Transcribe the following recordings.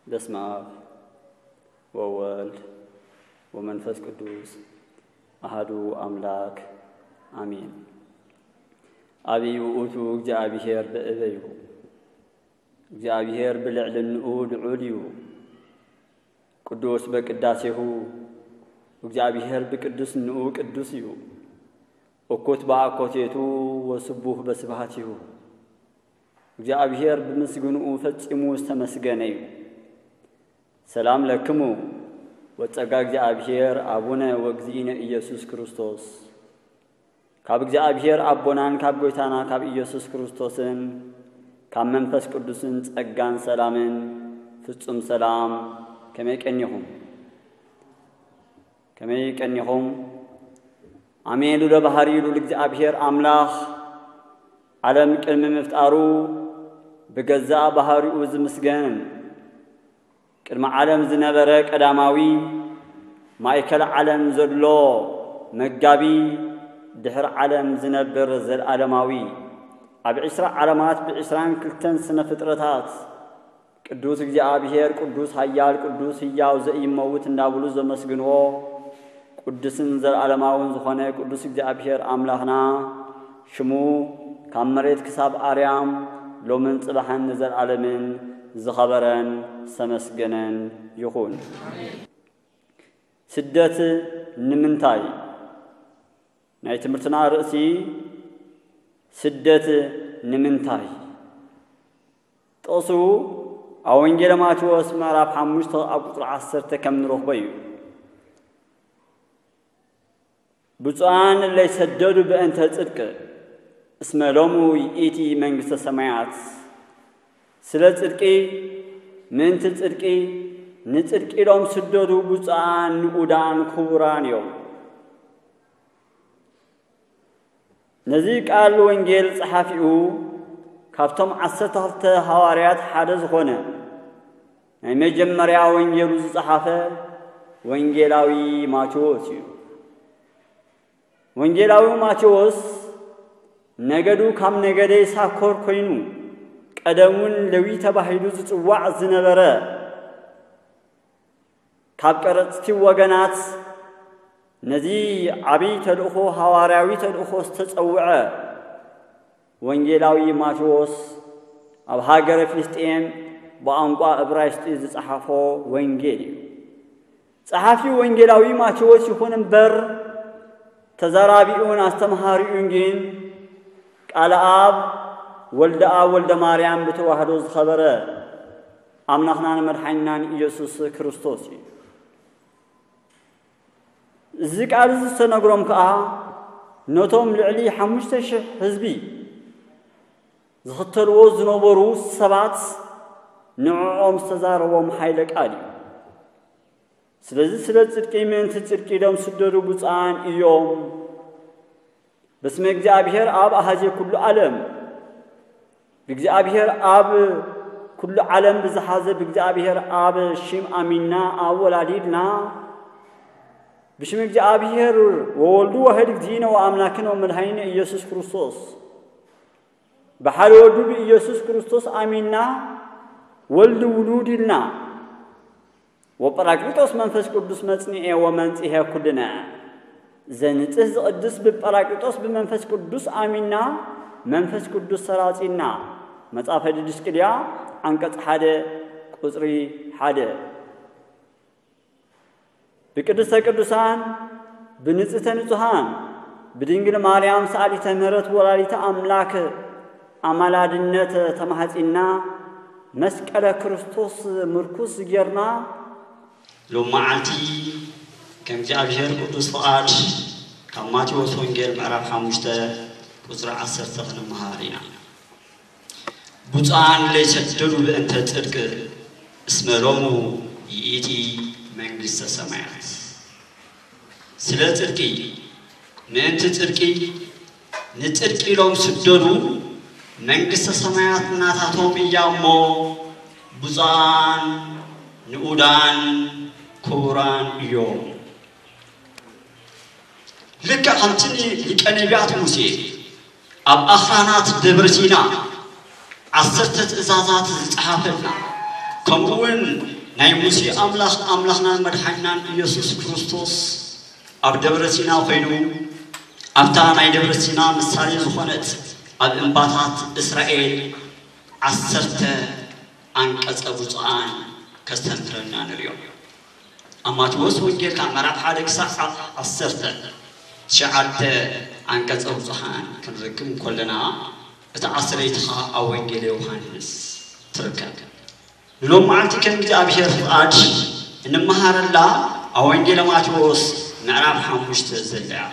በስመ አብ ወወልድ ወመንፈስ ቅዱስ አሐዱ አምላክ አሜን። አብይ ውእቱ እግዚአብሔር በእበዩ፣ እግዚአብሔር ብልዕልንኡ ልዑል እዩ። ቅዱስ በቅዳሴሁ፣ እግዚአብሔር ብቅዱስንኡ ቅዱስ እዩ። እኩት በአኮቴቱ ወስቡህ በስብሐቲሁ። እግዚአብሔር ብምስግንኡ ፈጺሙ ዝተመስገነ እዩ። ሰላም ለክሙ ወጸጋ እግዚአብሔር አቡነ ወእግዚእነ ኢየሱስ ክርስቶስ። ካብ እግዚአብሔር አቦናን ካብ ጎይታና ካብ ኢየሱስ ክርስቶስን ካብ መንፈስ ቅዱስን ጸጋን ሰላምን ፍጹም ሰላም ከመይ ቀኒኹም? ከመይ ቀኒኹም? አሜን። ልዑለ ባህሪ ልዑል እግዚኣብሔር አምላኽ ዓለም ቅድሚ ምፍጣሩ ብገዛእ ባህሪኡ ዝምስገን፣ ቅድሚ ዓለም ዝነበረ ቀዳማዊ፣ ማእከል ዓለም ዘሎ መጋቢ፣ ድሕሪ ዓለም ዝነብር ዘለዓለማዊ፣ ኣብ ዕስራ ዓለማት ብዕስራን ክልተን ስነ ፍጥረታት ቅዱስ እግዚኣብሔር፣ ቅዱስ ኃያል፣ ቅዱስ ሕያው ዘኢይመውት እንዳብሉ ዘመስግንዎ ቅዱስን ዘለዓለማውን ዝኾነ ቅዱስ እግዚኣብሔር ኣምላኽና ሽሙ ካብ መሬት ክሳብ ኣርያም ሎምን ጽባሕን ንዘለዓለምን ዝኸበረን ዝተመስገነን ይኹን። ስደት ንምንታይ? ናይ ትምህርትና ርእሲ ስደት ንምንታይ? ጥቕሱ ኣብ ወንጌለ ማቴዎስ ምዕራፍ ሓሙሽተ ኣብ ቁጽሪ ዓሰርተ ከም ንረኽቦ እዩ። ብፁዓን እለ ይሰደዱ በእንተ ጽድቅ እስመ ሎሙ ይእቲ መንግስተ ሰማያት። ስለ ጽድቂ፣ ምእንቲ ጽድቂ፣ ንጽድቂ ኢሎም ስደዱ ብፁዓን ንኡዳን ክቡራን እዮም። ነዚ ቃል ወንጌል ጸሓፊኡ ካብቶም ዓሰርተ ክልተ ሃዋርያት ሓደ ዝኾነ ናይ መጀመርያ ወንጌሉ ዝጸሓፈ ወንጌላዊ ማቴዎስ እዩ። ወንጌላዊ ማቴዎስ ነገዱ ካብ ነገደ ይሳኮር ኮይኑ ቀደሙን ለዊ ተባሂሉ ዝጽዋዕ ዝነበረ ካብ ቀረጽቲ ወገናት ነዚ ዓብዪ ተልእኾ ሃዋርያዊ ተልእኾ ዝተጸውዐ ወንጌላዊ ማቴዎስ ኣብ ሃገረ ፍልስጤም ብቋንቋ እብራይስጢ ዝጸሓፎ ወንጌል እዩ። ጸሓፊ ወንጌላዊ ማቴዎስ ይኹን እምበር ተዛራቢኡን ኣስተምሃሪኡን ግን ቃለ ኣብ ወልደ ኣብ ወልደ ማርያም ብተዋህዶ ዝኸበረ ኣምላኽናን መድሓኒናን ኢየሱስ ክርስቶስ እዩ። እዚ ቃል እዚ ዝተነግሮም ከኣ ነቶም ልዕሊ ሓሙሽተ ሽሕ ህዝቢ ዝኽተልዎ ዝነበሩ ሰባት ንዕኦም ዝተዛረቦም ሓይለ ቃል እዩ። ስለዚ ስለ ጽድቂ ምእንቲ ጽድቂ ኢሎም ስደዱ ብፁዓን እዮም። በስመ እግዚኣብሔር ኣብ ኣሃዜ ኩሉ ዓለም። ብእግዚኣብሔር ኣብ ኩሉ ዓለም ብዝሓዘ ብእግዚኣብሔር ኣብ ሽም ኣሚንና ኣብ ወላዲድና ብሽም እግዚኣብሔር ወወልዱ ዋሕድ እግዚእነ ወኣምላክነ ወመድኃኒነ ኢየሱስ ክርስቶስ ብሓደ ወዱ ብኢየሱስ ክርስቶስ ኣሚንና ወልድ ውሉድ ኢልና ወጳራቅሊጦስ መንፈስ ቅዱስ መጽንኤ ወመንጽሔ ኩልነ ዘንጽህ ዝቕድስ ብጳራቅሊጦስ ብመንፈስ ቅዱስ ኣሚንና መንፈስ ቅዱስ ሰራጺና። መጽሐፈ ዲድስቅልያ ዓንቀጽ ሓደ ቁጽሪ ሓደ። ብቅድስተ ቅዱሳን ብንጽህተ ንጹሃን ብድንግል ማርያም ሰኣሊተ ምሕረት ወላዲተ ኣምላክ ኣማላድነት ተማሕጺና መስቀለ ክርስቶስ ምርኩስ ጌርና ሎም መዓልቲ ከም እግዚኣብሔር ቅዱስ ፍቓድ ካብ ማቴዎስ ወንጌል ምዕራፍ ሓሙሽተ ቁጽሪ ዓሰርተ ክንመሃር ኢና። ብፁዓን ለይሰደዱ በእንተ ጽድቅ እስመ ሎሙ ይእቲ መንግስተ ሰማያት። ስለ ጽድቂ ምእንቲ ጽድቂ ንጽድቂ ኢሎም ስደዱ መንግስተ ሰማያት ናታቶም እያ እሞ፣ ብፁዓን ንኡዳን ክቡራን እዮም። ልክዕ ከምቲ ሊቀ ነቢያት ሙሴ ኣብ ኣኽራናት ደብረ ሲና ዓሰርተ ትእዛዛት ዝጸሓፈልና፣ ከምኡ እውን ናይ ሙሴ ኣምላኽ፣ ኣምላኽናን መድሓኒናን ኢየሱስ ክርስቶስ ኣብ ደብረ ሲና ኮይኑ ኣብታ ናይ ደብረ ሲና ምሳሌ ዝኾነት ኣብ እምባታት እስራኤል ዓሰርተ ኣንቀጸ ብፁዓን ከስተምህረና ንሪኦ። ኣብ ማቴዎስ ወንጌል ካብ ምዕራፍ ሓደ ክሳዕ ዓሰርተ ትሽዓተ ኣንቀጸ ብፁዓን ክንረክብ እንከለና፣ እታ ዓሰርተይቲ ኸኣ ኣብ ወንጌል ዮሃንስ ትርከብ። ንሎም መዓልቲ ከም እግዚኣብሔር ፍቓድ እንመሃረላ ኣብ ወንጌል ማቴዎስ ምዕራፍ ሓሙሽተ ዘላ እያ።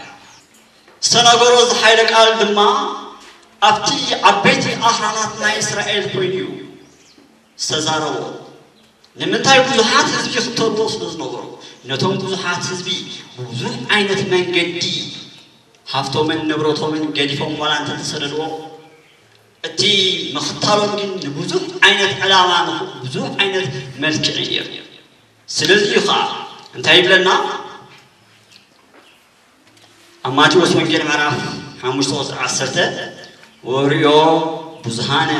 ዝተነገሮ እዚ ሓይለ ቃል ድማ ኣብቲ ዓበይቲ ኣኽራናት ናይ እስራኤል ኮይኑ እዩ ዝተዛረቦ። ንምንታይ ብዙሓት ህዝቢ ይኽተልዎ ስለ ዝነበሩ፣ ነቶም ብዙሓት ህዝቢ ብብዙሕ ዓይነት መንገዲ ሃፍቶምን ንብረቶምን ገዲፎም ዋላ እንተተሰደድዎ፣ እቲ ምኽታሎም ግን ንብዙሕ ዓይነት ዕላማ፣ ንብዙሕ ዓይነት መልክዕ እዩ ነይሩ። ስለዚ እዩ ኸዓ እንታይ ይብለና? ኣብ ማቴዎስ ወንጌል ምዕራፍ ሓሙሽተ ቁፅሪ ዓሰርተ፣ "ወርእዮ ብዙሃነ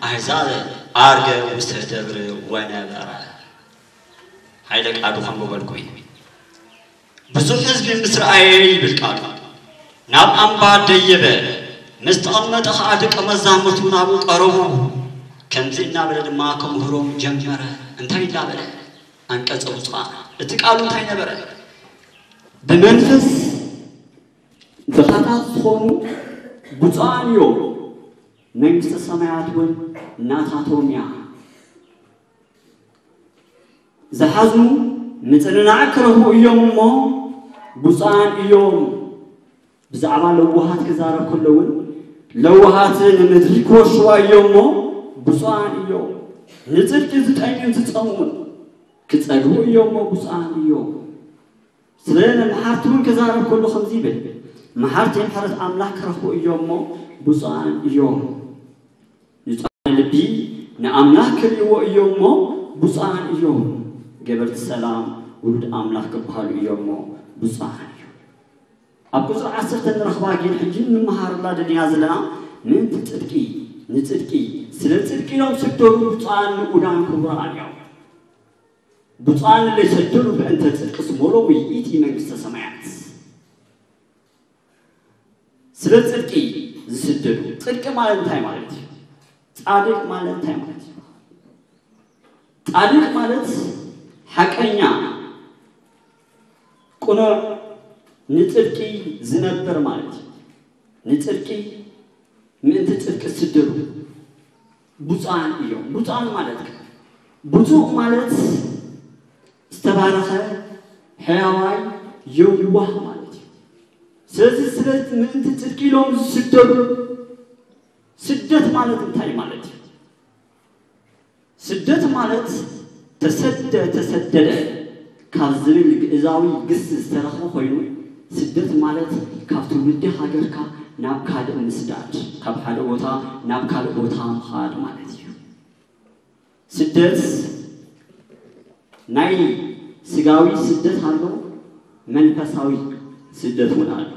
ኣሕዛብ ዓርገ ውስተ ደብር ወነበረ." ሓይለ ቃሉ ከንብበልኩም እዩ። ብዙሕ ህዝቢ ምስ ረኣየ ይብል ቃሉ፣ ናብ ኣምባ ደየበ፣ ምስ ተቐመጠ ኸዓ ደቀ መዛሙርቱ ናብኡ ቀረቡ። ከምዚ እናበለ ድማ ከምህሮም ጀመረ። እንታይ እናበለ? ኣንቀጸ ብፁዓን። እቲ ቃሉ እንታይ ነበረ? ብመንፈስ ድኻታት ዝኾኑ ብፁዓን እዮም፣ መንግስተ ሰማያት እውን ናታቶም እያ። ዝሓዝኑ ምጽንናዕ ክረኽቡ እዮም እሞ ብፁዓን እዮም። ብዛዕባ ለዋሃት ክዛረብ ከሎ እውን ለዋሃት ንምድሪ ክወርሽዋ እዮም እሞ ብፁዓን እዮም። ንጽድቂ ዝጠምዩን ዝጸምኡን ክጸግቡ እዮም እሞ ብፁዓን እዮም። ስለ መሓርቲ እውን ክዛረብ ከሎ ከምዚ ይብል፣ መሓርቲ ምሕረት ኣምላኽ ክረኽቡ እዮም እሞ ብፁዓን እዮም። ንጹዓን ልቢ ንኣምላኽ ክርእይዎ እዮም እሞ ብፁዓን እዮም። ገበርቲ ሰላም ውሉድ ኣምላኽ ክበሃሉ እዮም እሞ ብፁዓን እዮም። ኣብ ቁጽሪ ዓሰርተ ንረኽባ ግን ሕጂ እንመሃረላ ደሊና ዘለና ምእንቲ ጽድቂ፣ ንጽድቂ፣ ስለ ጽድቂ ኢሎም ስደዱ ብፁዓን ንኡዳን ክቡራን እዮም። ብፁዓን ለይሰደዱ በእንተ ጽድቂ እስመ ሎሙ ይእቲ መንግስተ ሰማያት። ስለ ጽድቂ ዝስደዱ። ጽድቂ ማለት እንታይ ማለት እዩ? ጻድቅ ማለት እንታይ ማለት እዩ? ጻድቅ ማለት ሓቀኛ፣ ቅኑዕ፣ ንጽድቂ ዝነብር ማለት እዩ። ንጽድቂ፣ ምእንቲ ጽድቂ ዝስደዱ ብፁዓን እዮም። ብፁዓን ማለት ከ? ብፁዕ ማለት ዝተባረኸ፣ ሕያዋይ፣ የዋህ ማለት እዩ። ስለዚ ስለ ምእንቲ ጽድቂ ኢሎም ዝስደዱ፣ ስደት ማለት እንታይ ማለት እዩ? ስደት ማለት ተሰደ፣ ተሰደደ ካብ ዝብል ግእዛዊ ግስ ዝተረኽበ ኮይኑ፣ ስደት ማለት ካብ ትውልዲ ሃገርካ ናብ ካልእ ምስዳድ፣ ካብ ሓደ ቦታ ናብ ካልእ ቦታ ምኻድ ማለት እዩ። ስደት ናይ ስጋዊ ስደት ኣሎ፣ መንፈሳዊ ስደት እውን ኣሎ።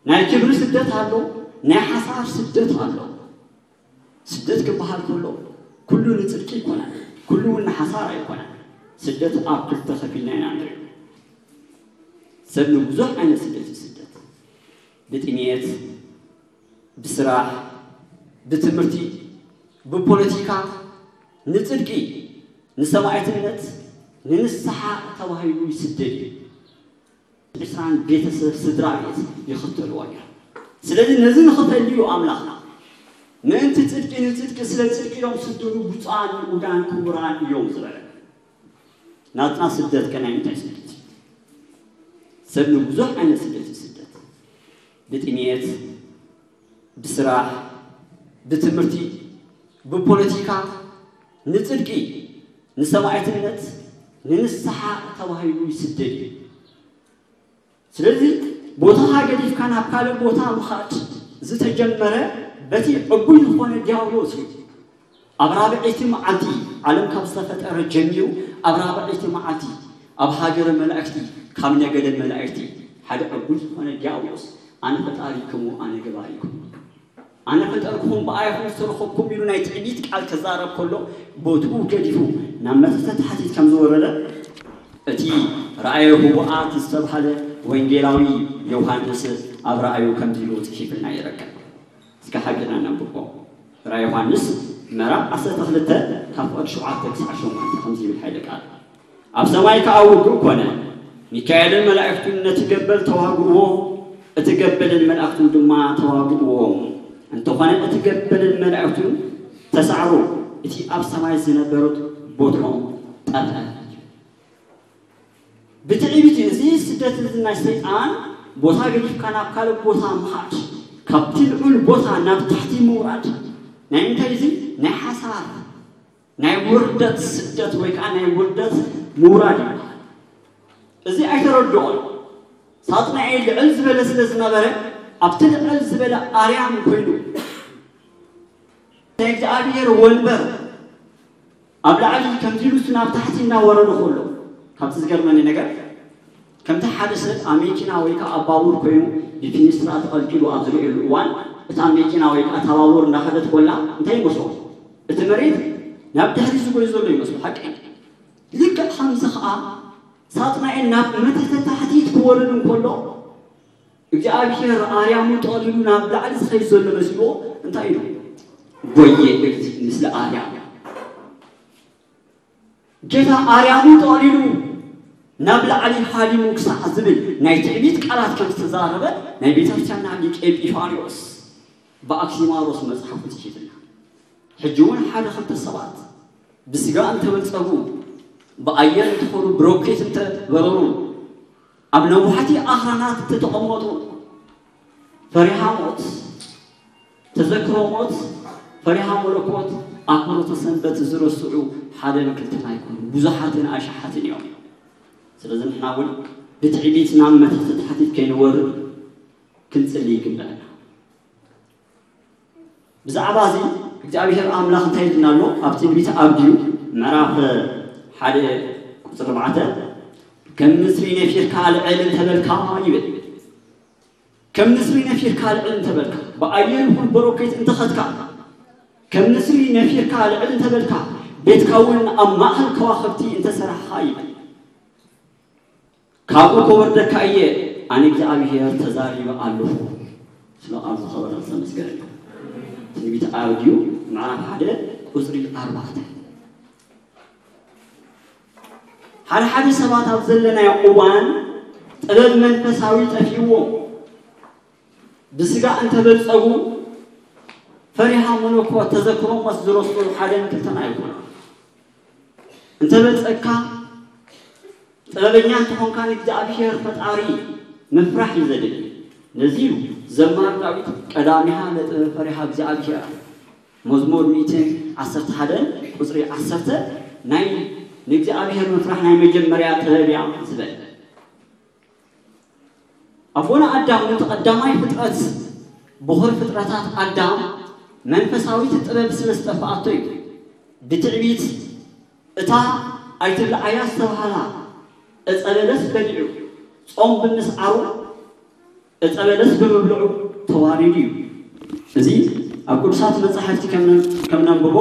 ናይ ክብሪ ስደት ኣሎ፣ ናይ ሓሳር ስደት ኣሎ። ስደት ክበሃል ከሎ ኩሉ ንጽድቂ ኣይኮነን፣ ኩሉ እውን ንሓሳር ኣይኮነን። ስደት ኣብ ክልተ ከፊልና ኢና ንሪኦ። ሰብ ንብዙሕ ዓይነት ስደት ይስደት። ብጥሜት፣ ብስራሕ፣ ብትምህርቲ፣ ብፖለቲካ፣ ንጽድቂ፣ ንሰማዕትነት፣ ንንስሓ ተባሂሉ ይስደድ እዩ። ዕስራን ቤተሰብ ስድራ ቤት ይኽተልዎ እዮም። ስለዚ ነዚ ንኽፈልዩ ኣምላኽ ምእንቲ ጽድቂ ንጽድቂ ስለ ጽድቂ ኢሎም ስደዱ ብፁዓን ንኡዳን ክቡራን እዮም ዝበለ። ናትና ስደት ከ ናይ ምንታይ ስደት እዩ? ሰብ ንብዙሕ ዓይነት ስደት እዩ ስደት። ብጥሜት፣ ብስራሕ፣ ብትምህርቲ፣ ብፖለቲካ፣ ንጽድቂ፣ ንሰማዕትነት፣ ንንስሓ ተባሂሉ ይስደድ እዩ። ስለዚ ቦታኻ ገዲፍካ ናብ ካልእ ቦታ ምኻድ ዝተጀመረ በቲ ዕቡይ ዝኾነ ዲያብሎስ እዩ። ኣብ ራብዐይቲ መዓልቲ፣ ዓለም ካብ ዝተፈጠረ ጀሚሩ፣ ኣብ ራብዐይቲ መዓልቲ፣ ኣብ ሃገረ መላእክቲ፣ ካብ ነገደ መላእክቲ፣ ሓደ ዕቡይ ዝኾነ ዲያብሎስ፣ ኣነ ፈጣሪኩም፣ ኣነ ገባሪኩም፣ ኣነ ፈጠርኩም፣ ብኣይኹም ዝተረኸብኩም ኢሉ ናይ ትዕቢት ቃል ክዛረብ ከሎ፣ ቦትኡ ገዲፉ ናብ መተተ ታሕቲት ከም ዝወረደ፣ እቲ ራእየ ህቡኣት ዝተባህለ ወንጌላዊ ዮሃንስ ኣብ ራእዩ ከምዚ ኢሉ ጽሒፍልና ይረከብ። እስከ ሓቢርና ነንብቦ። ራእይ ዮሃንስ ምዕራፍ ዓሰርተ ክልተ ካብ ፍቕዲ ሸውዓተ ክሳዕ ሸሞንተ ከምዚ ይብል ሓይለ ቃል። ኣብ ሰማይ ከኣ ውግእ ኮነ። ሚካኤልን መላእክቱን ነቲ ገበል ተዋግእዎ፣ እቲ ገበልን መላእክቱን ድማ ተዋግእዎም። እንተኾነ እቲ ገበልን መላእክቱን ተሳዕሩ፣ እቲ ኣብ ሰማይ ዝነበሩት ቦትኦም ጠፍአ። ብትዕቢት እዩ። እዚ ስደት እዚ ናይ ሰይጣን ቦታ ገዲፍካ ናብ ካልእ ቦታ ምኻድ፣ ካብቲ ልዑል ቦታ ናብ ታሕቲ ምውራድ፣ ናይ እንታይ እዚ ናይ ሓሳር ናይ ውርደት ስደት ወይ ከዓ ናይ ውርደት ምውራድ ይበሃል። እዚ ኣይተረድኦን። ሳጥናኤል ልዕል ዝበለ ስለ ዝነበረ ኣብቲ ልዕል ዝበለ ኣርያም ኮይኑ ናይ እግዚኣብሔር ወንበር ኣብ ላዕሊ ከምዚ ኢሉ እሱ ናብ ታሕቲ እናወረደ ከሎ ካብቲ ዝገርመኒ ነገር ከምቲ ሓደ ሰብ ኣብ መኪና ወይ ከዓ ኣብ ባቡር ኮይኑ ብፊኒስትራ ተቐልቂሉ ኣብ ዝርእየሉ እዋን እታ መኪና ወይ ከዓ እታ ባቡር እንዳኸደት ኮላ እንታይ ይመስሎ እቲ መሬት ናብ ድሕሪ ዝጎይ ዘሎ ይመስሎ ሓቂ ልክዕ ከምዚ ከዓ ሳጥናኤል ናብ መተተ ታሕቲት ክወርድ እንከሎ እግዚኣብሔር ኣርያሙ ጠቕሊሉ ናብ ላዕሊ ዝኸይድ ዘሎ መሲልዎ እንታይ ኢሉ ጎየ እግዚእ ምስለ ኣርያም ጌታ ኣርያሙ ጠቕሊሉ ናብ ላዕሊ ሃዲሙ ክሳዕ ዝብል ናይ ትዕቢት ቃላት ከም ዝተዛረበ ናይ ቤተክርስትያንና ሊቅ ኤጲፋንዮስ ብኣክሲማሮስ መጽሓፉ ጽሒፍና ሕጂ እውን ሓደ ክልተ ሰባት ብስጋ እንተበልጸጉ ብኣየር እንትኾኑ ብሮኬት እንተበረሩ ኣብ ነዋሕቲ ኣኽራናት እንተተቐመጡ ፈሪሃ ሞት ተዘክሮ ሞት ፈሪሃ መለኮት ኣክብሮተ ሰንበት ዝረስዑ ሓደን ክልተን ኣይኮኑ ብዙሓትን ኣሽሓትን እዮም ስለዚ ንሕና እውን ብትዕቢት ናብ መትሕቲ ታሕቲት ከይንወርድ ክንጽሊ ይግበአና ብዛዕባ እዚ እግዚኣብሔር ኣምላኽ እንታይ ይልና ኣሎ ኣብ ትንቢት ኣብድዩ ምዕራፍ ሓደ ቁፅሪ ኣርባዕተ ከም ንስሪ ነፊርካ ልዕል እንተበልካ ይብል ከም ንስሪ ነፊርካ ልዕል እንተበልካ ብኣየር ይኹን በሮኬት እንተኸትካ ከም ንስሪ ነፊርካ ልዕል እንተበልካ ቤትካ እውን ኣብ ማእኸል ከዋኽብቲ እንተሰራሕኻ ይብል ካብኡ ከወርደካ እየ ኣነ እግዚኣብሔር ተዛሪበ ኣለኹ ስለ ቃሉ ዝኸበረ ዝተመስገነ እዩ ትንቢት ኣብድዩ ምዕራፍ ሓደ ቁፅሪ ኣርባዕተ ሓደ ሓደ ሰባት ኣብ ዘለናዮ እዋን ጥበብ መንፈሳዊ ጠፊእዎም ብስጋ እንተበልፀጉ ፈሪሃ መለኮ ተዘክሮሞስ ዝረስዑ ሓደን ክልተን ኣይኮኑ እንተበልፀግካ ጥበበኛ እንተኾንካ ንእግዚኣብሔር ፈጣሪ ምፍራሕ እዩ ዘድሊ። ነዚ እዩ ዘማሪ ዳዊት ቀዳሚሃ ለጥበብ ፈሪሃ እግዚኣብሔር መዝሙር ሚእትን ዓሰርተ ሓደን ቁፅሪ ዓሰርተ ናይ ንእግዚኣብሔር ምፍራሕ ናይ መጀመርያ ጥበብ እያ ዝበለ። ኣቦና ኣዳም ነቲ ቀዳማይ ፍጥረት ብኹር ፍጥረታት ኣዳም መንፈሳዊት ጥበብ ስለ ዝጠፍኣቶ እዩ ብትዕቢት እታ ኣይትብልዓያ ዝተባህላ ዕፀ በለስ በሊዑ ፆም ብምስዓሩ ዕፀ በለስ ብምብልዑ ተዋሪዱ እዩ። እዚ ኣብ ቅዱሳት መፃሕፍቲ ከም ነንብቦ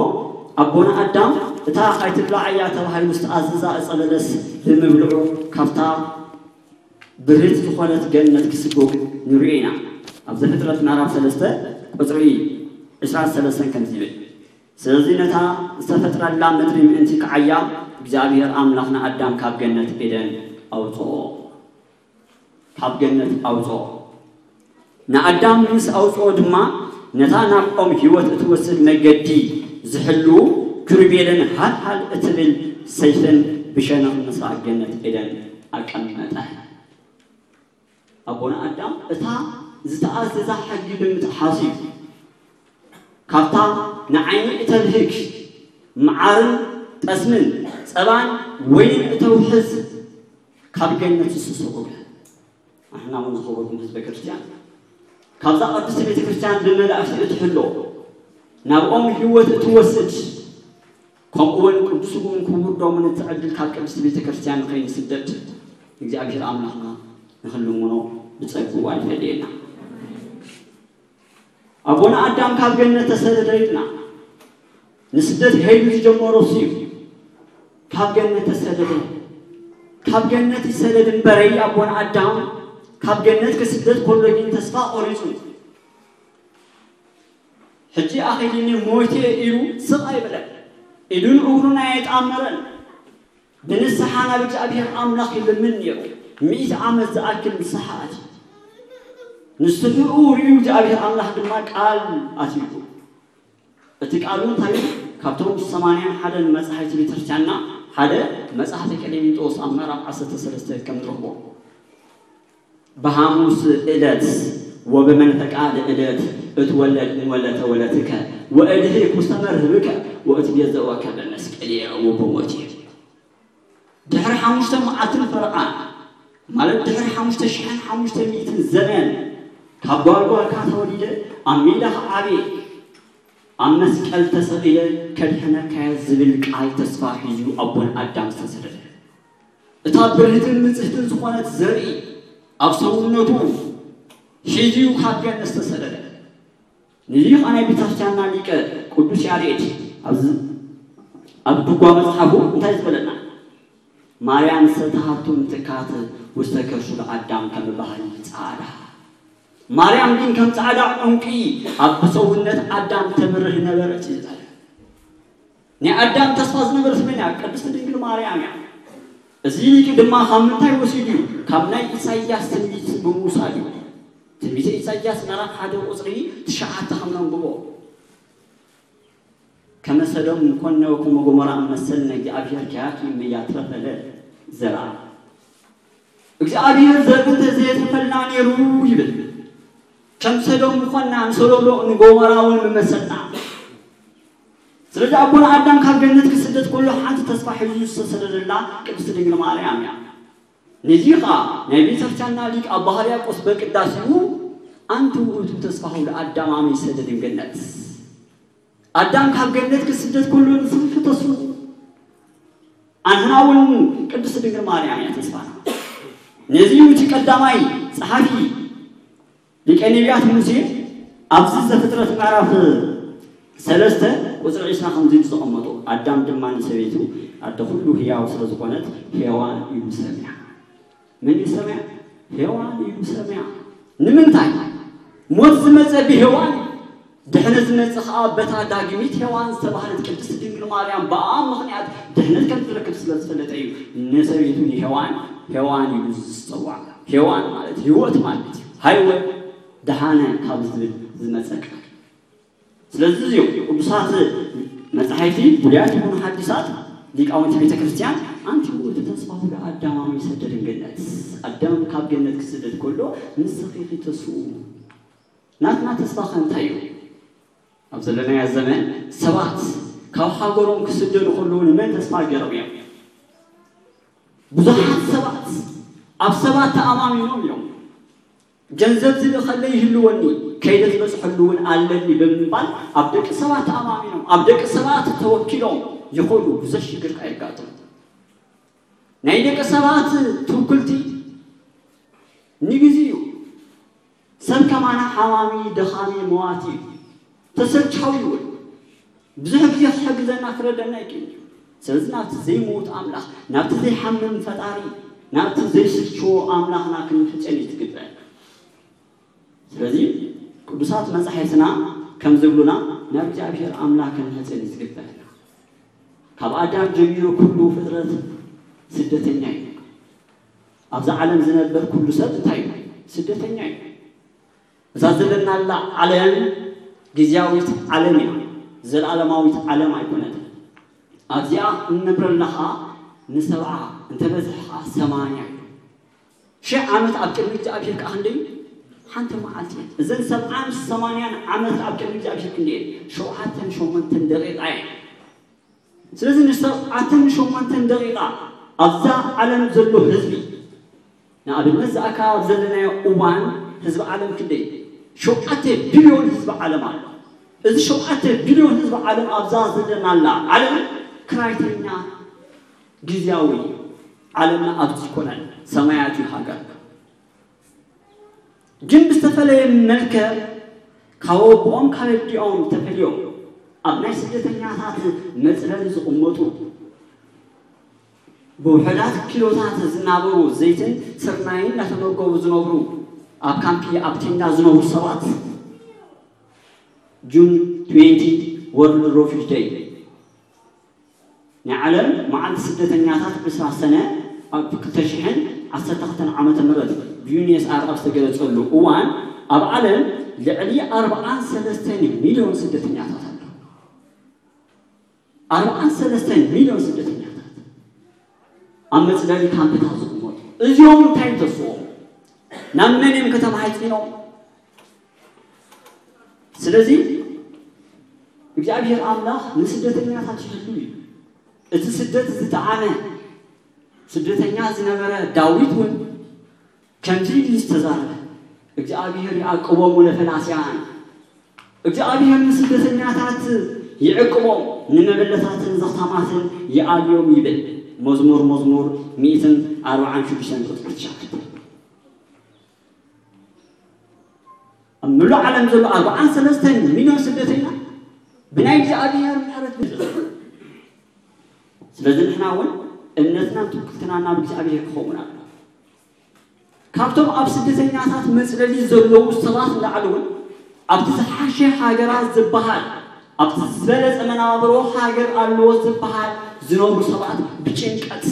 ኣቦና ኣዳም እታ ኣይትብልዓያ ተባሂሉ ዝተኣዘዛ ዕፀ በለስ ብምብልዑ ካብታ ብርህቲ ዝኾነት ገነት ክስጎግ ንሪኦ ኢና። ኣብ ዘፍጥረት ምዕራፍ ሰለስተ ቁፅሪ ዕስራን ሰለስተን ከምዚ ይብል። ስለዚ ነታ ዝተፈጥረላ ምድሪ ምእንቲ ክዓያ እግዚኣብሔር ኣምላኽ ንኣዳም ካብ ገነት ኤደን ኣውፅኦ። ካብ ገነት ኣውፅኦ። ንኣዳም ምስ ኣውፅኦ ድማ ነታ ናብ ኦም ህይወት እትወስድ መገዲ ዝሕልዉ ክሩቤልን ሃልሃል እትብል ሰይፍን ብሸነኽ ምስራቕ ገነት ኤደን ኣቀመጠ። ኣቦና ኣዳም እታ ዝተኣዘዛ ሕጊ ብምጥሓሱ እዩ። ካብታ ንዓይኒ እተብህግ መዓርን ጠስምን ጸባን ወይንን እተውሕዝ ካብ ገነት ዝስስቑ ኣሕና እውን ዝኸበርኩም ህዝበ ክርስቲያን ካብዛ ቅድስቲ ቤተ ክርስቲያን ብመላእኽቲ እትሕሎ፣ ናብኦም ህይወት እትወስድ፣ ከምኡ እውን ቅዱስ ስግኡን ክቡር ደሙን እትዕድል ካብ ቅድስቲ ቤተ ክርስቲያን ንኸይንስደድ እግዚኣብሔር ኣምላኽና ንኽንልምኖ ብጸግኡ ኣይፈለየና። ኣቦና ኣዳም ካብ ገነት ተሰደደ ኢልና። ንስደት ከይዱ ዝጀመሮ እሱ እዩ። ካብ ገነት ተሰደደ። ካብ ገነት ይሰደድ እምበረይ ኣቦና ኣዳም ካብ ገነት ክስደድ ከሎ ግን ተስፋ ቆሪጹ። ሕጂ ኣኺልኒ ሞይተ ኢሉ ስቕ ኣይበለን። ኢዱን እግሩን ኣየጣመረን። ብንስሓ ናብ እግዚኣብሔር ኣምላኽ ይልምን ነይሩ። ሚእቲ ዓመት ዝኣክል ንስሓ ኣትዩ። ንስሕኡ ርእዩ እግዚኣብሔር ኣምላኽ ድማ ቃል ኣትዩ። እቲ ቃሉ እንታይ እዩ? ካብቶም ሰማንያን ሓደን መጻሕፍቲ ቤተክርስትያንና ሓደ መጽሓፍቲ ቀሌምንጦስ ኣብ ምዕራፍ ዓሰርተ ሰለስተ ከም ንረኽቦ። በሐሙስ ዕለት ወበመንፈቃድ ዕለት እትወለድ እንወለተ ወለትከ ወእድህክ ውስተ መርህብከ ወእትቤዘወከ በመስቀልየ ወበሞትየ። ድሕሪ ሓሙሽተ መዓልትን ፈረቓን፣ ማለት ድሕሪ ሓሙሽተ ሽሕን ሓሙሽተ ሚእትን ዘመን፣ ካብ ጓልጓልካ ተወሊደ፣ ኣብ ሜዳ ክዓብየ፣ ኣብ መስቀል ተሰቒለ ከድሕነካየ ዝብል ቃል ተስፋ ሒዙ ኣቦን ኣዳም ዝተሰደደ። እታ ብርህትን ንጽህትን ዝኾነት ዘርኢ ኣብ ሰውነቱ ሒዙ ካብ ገነት ዝተሰደደ። ንዚ ኸኣ ናይ ቤተክርስትያንና ሊቀ ቅዱስ ያሬድ ኣብዚ ኣብ ድጓ መጽሓፉ እንታይ ዝበለና? ማርያም ሰተሃቱ ምትካት ውስተ ከርሱ ለአዳም ከም ባህሪ ጻዕዳ። ማርያም ግን ከም ጻዕዳ ዕንቂ ኣብ ሰውነት ኣዳም ተብርህ ነበረት እዩ ዝበለ። ናይ ኣዳም ተስፋ ዝነበረት መን እያ? ቅድስቲ ድንግል ማርያም እያ። እዚ ሊቅ ድማ ካብ ምንታይ ወሲዱ እዩ? ካብ ናይ ኢሳይያስ ትንቢት ብምውሳድ እዩ። ትንቢተ ኢሳይያስ ምዕራፍ ሓደ ቁጽሪ ትሽዓተ ከም ነንብቦ። ከመ ሰዶም ኮነ ወከመ ጎሞራ መሰልነ፣ እግዚኣብሔር ኪያኪ እምያትረፈለ ዘርአ። እግዚኣብሔር ዘርኢ እንተዘየትረፈልና ነይሩ ይብል። ከም ሰዶም ምኾንና፣ ንሰዶም ንጎሞራ እውን ምመሰልና። ስለዚ ኣቦና ኣዳም ካብ ገነት ክስደድ ከሎ ሓንቲ ተስፋ ሒዙ ዝተሰደደላ ቅድስቲ ድንግል ማርያም እያ። ነዚ ኸኣ ናይ ቤተክርስትያንና ሊቅ ኣባ ሕርያቆስ በቅዳሴኡ ኣንቲ ውእቱ ተስፋሁ ለአዳም አመ ይሰደድ እምገነት። ኣዳም ካብ ገነት ክስደድ ከሎ ንስኺ ተስፉ። ኣንሕና እውን ቅድስት ድንግል ማርያም እያ ተስፋና። ነዚ እዩ እቲ ቀዳማይ ጸሓፊ ሊቀ ነቢያት ሙሴ ኣብዚ ዘፍጥረት ምዕራፍ ሰለስተ ቁጽሪ ዒስራ ከምዚ ኢሉ ዘቐመጦ፣ ኣዳም ድማ ንሰበይቱ ኣደ ኩሉ ህያው ስለ ዝኾነት ሄዋን ኢሉ ሰምያ። መን እዩ ሰምያ? ሄዋን እዩ ሰምያ። ንምንታይ? ሞት ዝመጸ ብሄዋን እዩ። ድሕነት ዝመጽእ ኸኣ በታ ዳግሚት ሄዋን ዝተባህለት ቅድስት ድንግል ማርያም ብኣ ምኽንያት ድሕነት ከም ትረክብ ስለ ዝፈለጠ እዩ ንሰበይቱ ንሄዋን ሄዋን ኢሉ ዝጸውዓ። ሄዋን ማለት ህይወት ማለት እዩ። ሃይወ ደሃነ ካብ ዝብል ዝመጸ ቃል። ስለዚ እዚኦም ቅዱሳት መጻሕፍቲ ብሉያት ይኹኑ ሓዲሳት ሊቃውንቲ ቤተ ክርስቲያን ኣንቲ ውእቱ ተስፋሁ ለአዳም አመ ይሰደድ እምገነት፣ ኣዳም ካብ ገነት ክስደድ ከሎ ንስኺ ኢኺ ተስፍኡ። ናትና ተስፋ ከ እንታይ እዩ? ኣብ ዘለናዮ ዘመን ሰባት ካብ ሃገሮም ክስደዱ ከለዉ ንመን ተስፋ ገይሮም እዮም? ብዙሓት ሰባት ኣብ ሰባት ተኣማሚኖም እዮም። ገንዘብ ዝልእኸለይ ይህልወኒ፣ ከይደ ዝበፅሐሉ እውን ኣለኒ ብምባል ኣብ ደቂ ሰባት ተኣማሚኖም፣ ኣብ ደቂ ሰባት ተወኪሎም ይኸዱ። ብዙሕ ሽግር ከየጋጥም ናይ ደቂ ሰባት ትውክልቲ ንግዜ እዩ። ሰብ ከማና ሓማሚ፣ ደኻሚ፣ መዋቲ እዩ። ተሰልቻዊ እውን ብዙሕ ግዜ ክሕግዘና ክረደና ይክእል እዩ። ስለዚ ናብቲ ዘይመውት ኣምላኽ፣ ናብቲ ዘይሓምም ፈጣሪ፣ ናብቲ ዘይስልችዎ ኣምላኽና ክንሕጸን እዩ ዝግበአና። ስለዚ ቅዱሳት መጻሕፍትና ከም ዝብሉና ናብ እግዚኣብሔር ኣምላኽ ክንሕጸን እዩ ዝግበአና። ካብ ኣዳም ጀሚሩ ኩሉ ፍጥረት ስደተኛ እዩ። ኣብዛ ዓለም ዝነበር ኩሉ ሰብ እንታይ እዩ? ስደተኛ እዩ። እዛ ዘለናላ ዓለም ግዝያዊት ዓለም እያ፣ ዘለዓለማዊት ዓለም ኣይኮነትን። ኣብዚኣ እንነብረላ ኸዓ ንሰብዓ እንተበዝሕ ኸዓ ሰማንያ እዩ። ሽሕ ዓመት ኣብ ቅድሚ እግዚኣብሔር ከዓ ክንደይ እዩ? ሓንቲ መዓልቲ እያ። እዘን ሰብዓን ሰማንያን ዓመት ኣብ ቅድሚ እግዚኣብሔር ክንደይ እየን? ሸውዓተን ሸሞንተን ደቂቃ እየን። ስለዚ ንሰብዓተን ሸሞንተን ደቂቃ ኣብዛ ዓለም ዘሎ ህዝቢ ንኣብነት ዝኣካ ኣብ ዘለናዮ እዋን ህዝቢ ዓለም ክንደይ እዩ? ሸውዓተ ቢልዮን ህዝቢ ዓለም ኣሎ። እዚ ሸውዓተ ቢልዮን ህዝቢ ዓለም ኣብዛ ዘለናላ ዓለም ክራይተኛ ግዝያዊ እዩ። ዓለምና ኣብዚ ይኮነን፣ ሰማያት እዩ ሃገር። ግን ብዝተፈለየ መልክዕ ካብ ኣቦኦም ካብ ኣዲኦም ተፈልዮም ኣብ ናይ ስደተኛታት መፅለሊ ዝቕመጡ ብውሑዳት ኪሎታት ዝናበሩ ዘይትን ስርናይን እናተመገቡ ዝነብሩ ኣብ ካምፒ ኣብ ቴንዳ ዝነብሩ ሰባት ጁን ትዌንቲ ወርልድ ሮፊጅ ደይ ናይ ዓለም መዓልቲ ስደተኛታት ዕስራ ሰነ ኣብ ክልተ ሽሕን ዓሰርተ ክልተን ዓመተ ምህረት ብዩኔስኣር ኣብ ዝተገለጸሉ እዋን ኣብ ዓለም ልዕሊ ኣርብዓን ሰለስተን ሚልዮን ስደተኛታት ኣለዉ። ኣርብዓን ሰለስተን ሚልዮን ስደተኛታት ኣብ መፅለሊ ካምፕታት ዝቕመጡ እዚኦም እንታይ ተስኦም ናብ መን እዮም ከተማሓይፂኖም? ስለዚ እግዚኣብሔር ኣምላኽ ንስደተኛታት ይህሉ እዩ። እቲ ስደት ዝጠዓመ ስደተኛ ዝነበረ ዳዊት እውን ከምዚ ኢሉ ዝተዛረበ እግዚኣብሔር ይዓቅቦሙ ለፈላስያን እግዚኣብሔር ንስደተኛታት ይዕቅቦም ንመበለታትን ዘኽታማትን ይኣልዮም ይብል። መዝሙር መዝሙር ሚእትን ኣርብዓን ሽዱሽተን ቁፅሪ ትሽዓተ። ኣብ ምሉእ ዓለም ዘሎ ኣርብዓን ሰለስተን ሚልዮን ስደተኛ ብናይ እግዚኣብሔር ምሕረት ብዝሕ ስለዚ ንሕና እውን እምነትናን ትውክልትና ናብ እግዚኣብሔር ክኸውን ኣሎ። ካብቶም ኣብ ስደተኛታት መፅለሊ ዘለዉ ሰባት ንላዕሊ እውን ኣብቲ ዝሓሸ ሃገራት ዝበሃል ኣብቲ ዝበለፀ መናብሮ ሃገር ኣለዎ ዝበሃል ዝነብሩ ሰባት ብጭንቀት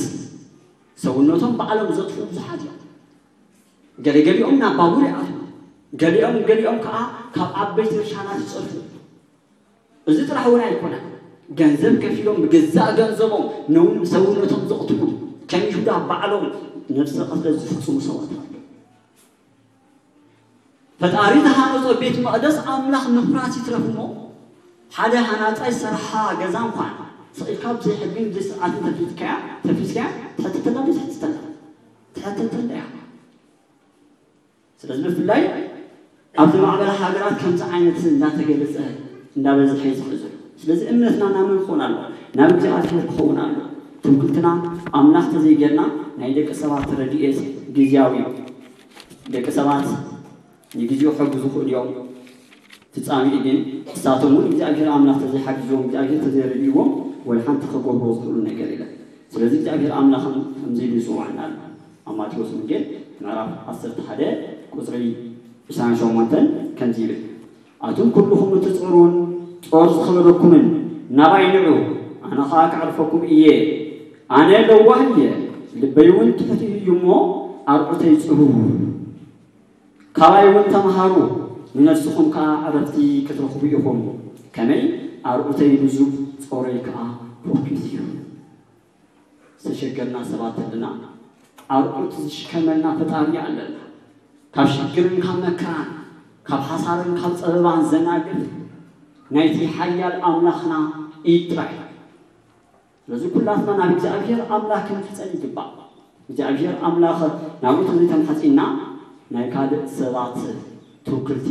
ሰውነቶም ባዕሎም ዘጥፍኡ ብዙሓት እዮም። ገለገሊኦም ናብ ባቡር ይኣትዉ፣ ገሊኦም ገሊኦም ከዓ ካብ ዓበይቲ ርሻናት ይፀድፉ። እዚ ጥራሕ እውን ኣይኮነን። ገንዘብ ከፊሎም ብገዛእ ገንዘቦም ነውን ሰውነቶም ዘቕትሉ ከም ይሁዳ ባዕሎም ነብሰ ቅትለት ዝፍፅሙ ሰባት ኣለዉ። ፈጣሪ ዝሃነጾ ቤት መቕደስ ኣምላኽ ምፍራስ ይትረፍ እሞ ሓደ ሃናጻይ ዝሰርሓ ገዛ እንኳን ስቕ ኢልካ ብዘይ ሕግን ብዘይ ስርዓትን ተፊትካያ ተፊስካያ ትሕተተላ ዶ ትሕተተላ? ትሕተተላ እያ። ስለዚ ብፍላይ ኣብ ዝማዕበላ ሃገራት ከምዚ ዓይነት እንዳተገለጸ እንዳበዝሐ እዩ ዝሕዝን። ስለዚ እምነትና ናብ መን ክኸውን ኣለዎ? ናብ እግዚኣብሔር ክኸውን ኣለዎ። ትምክልትና ኣምላኽ ተዘይጌርና ናይ ደቂ ሰባት ረድኤት ግዝያዊ እዩ። ደቂ ሰባት ንግዜኡ ክሕግዙ ይኽእሉ እዮም። ፍጻሜኡ ግን ንሳቶም እውን እግዚኣብሔር ኣምላኽ ተዘይሓጊዝዎም እግዚኣብሔር ተዘይረድእዎም ወላ ሓንቲ ክገብርዎ ዝኽእሉ ነገር የለን። ስለዚ እግዚኣብሔር ኣምላኽን ከምዚ ኢሉ ይጽውዓና ኣሎ። ኣብ ማቴዎስ ወንጌል ምዕራፍ ዓሰርተ ሓደ ቁጽሪ ዕስራን ሸሞንተን ከምዚ ይብል፣ ኣቱም ኩልኹም እትጽዕሩን ጾር ዝኸበደኩምን ናባይ ንዑ፣ ኣነ ኸኣ ከዕርፈኩም እየ። ኣነ ለዋህ እየ፣ ልበይ እውን ትሑት እዩ እሞ ኣርዑተይ ጽብቡ። ካባይ እውን ተምሃሩ፣ ንነፍስኹም ከኣ ዕረፍቲ ክትረኽቡ ኢኹም። ከመይ ኣርዑተይ ልዙብ ጾረይ ከኣ ፎኪስ እዩ። ዝተሸገርና ሰባት ኣለና። ኣርዑት ዝሽከመልና ፈጣሪ ኣለና። ካብ ሽግርን ካብ መከራን ካብ ሓሳርን ካብ ጸበባን ዘናግፍ ናይቲ ሓያል ኣምላኽና ኢድ ጥራሕ እዩ። ስለዚ ኩላትና ናብ እግዚኣብሔር ኣምላኽ ክንምሕጸን ይግባእ። እግዚኣብሔር ኣምላኽ ናብኡ ተዘይተምሓጺና ናይ ካልእ ሰባት ትውክልቲ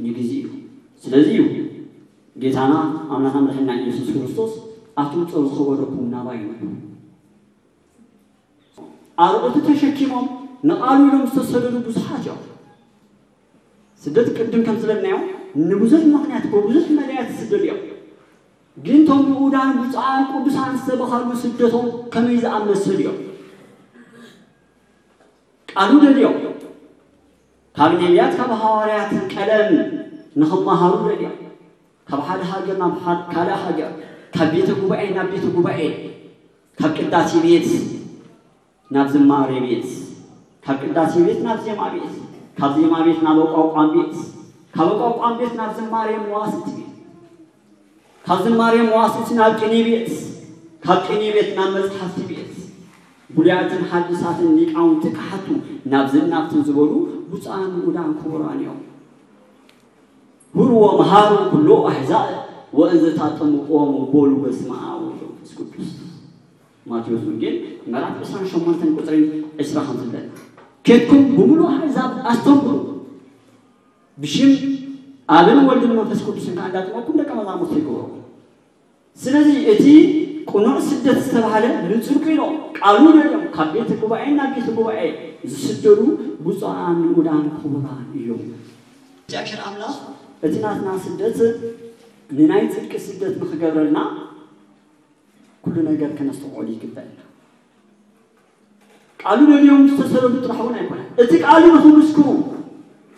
ንግዚ እዩ። ስለዚ እዩ ጌታና ኣምላኽና መድሕንና ኢየሱስ ክርስቶስ ኣቱም ጾር ዝኸበደኩም ናባይ ንዑ። ኣርዑቱ ተሸኪሞም ንቓሉ ኢሎም ዝተሰደዱ ብዙሓት እዮም። ስደት ቅድም ከም ዝበልናዮ ንብዙሕ ምኽንያት ብብዙሕ መዳያት ዝስደዱ እዮም። ግን እቶም ንኡዳን ብፁዓን ቅዱሳን ዝተበሃሉ ስደቶም ከመይ ዝኣመሰሉ እዮም? ቃሉ ደልዮም ካብ ነቢያት ካብ ሃዋርያት ቀለም ንኽመሃሩ ደልዮም ካብ ሓደ ሃገር ናብ ሓደ ካልእ ሃገር ካብ ቤተ ጉባኤ ናብ ቤተ ጉባኤ ካብ ቅዳሴ ቤት ናብ ዝማሬ ቤት ካብ ቅዳሴ ቤት ናብ ዜማ ቤት ካብ ዜማ ቤት ናብ ኣቋቋም ቤት ካብ ኣቋቋም ቤት ናብ ዝማሬ መዋስቲ ቤት ካብ ዝማሬ መዋስቲ ናብ ቅኔ ቤት ካብ ቅኔ ቤት ናብ መጽሓፍቲ ቤት ብሉያትን ሓዲሳትን ሊቃውንቲ ክሓቱ ናብዝን ናብትን ዝበሉ ብፁዓን ንኡዳን ክቡራን እዮም። ሁሩ ወመሃሩ ኩሎ ኣሕዛብ ወእንዘ ታጠምቆም በሉ በስመ ኣብ ወወልድ ወመንፈስ ቅዱስ። ማቴዎስ ወንጌል ምዕራፍ ዕስራን ሸሞንተን ቁፅሪ ዕስራ ከም ዝብለና ኬድኩም ብምሉእ ኣሕዛብ ኣስተምሩ። ብሽም ኣብን ወልድን መንፈስ ቅዱስን ከዓ እንዳጥመኩም ደቀ መዛሙርቱ ይገብሮም። ስለዚ እቲ ቅኑዕ ስደት ዝተባህለ ንፅድቁ ኢሎም ቃሉ ደልዮም ካብ ቤተ ጉባኤ ናብ ቤተ ጉባኤ ዝስደዱ ብፁዓን ንኡዳን ክቡራን እዮም። እግዚኣብሔር ኣምላኽ እቲ ናትና ስደት ንናይ ፅድቂ ስደት ንክገብረልና ኩሉ ነገር ከነስተውዕሉ ይግበእና። ቃሉ ደልዮም ዝተሰደዱ ጥራሕ እውን ኣይኮነን። እቲ ቃሉ ንክምስክሩ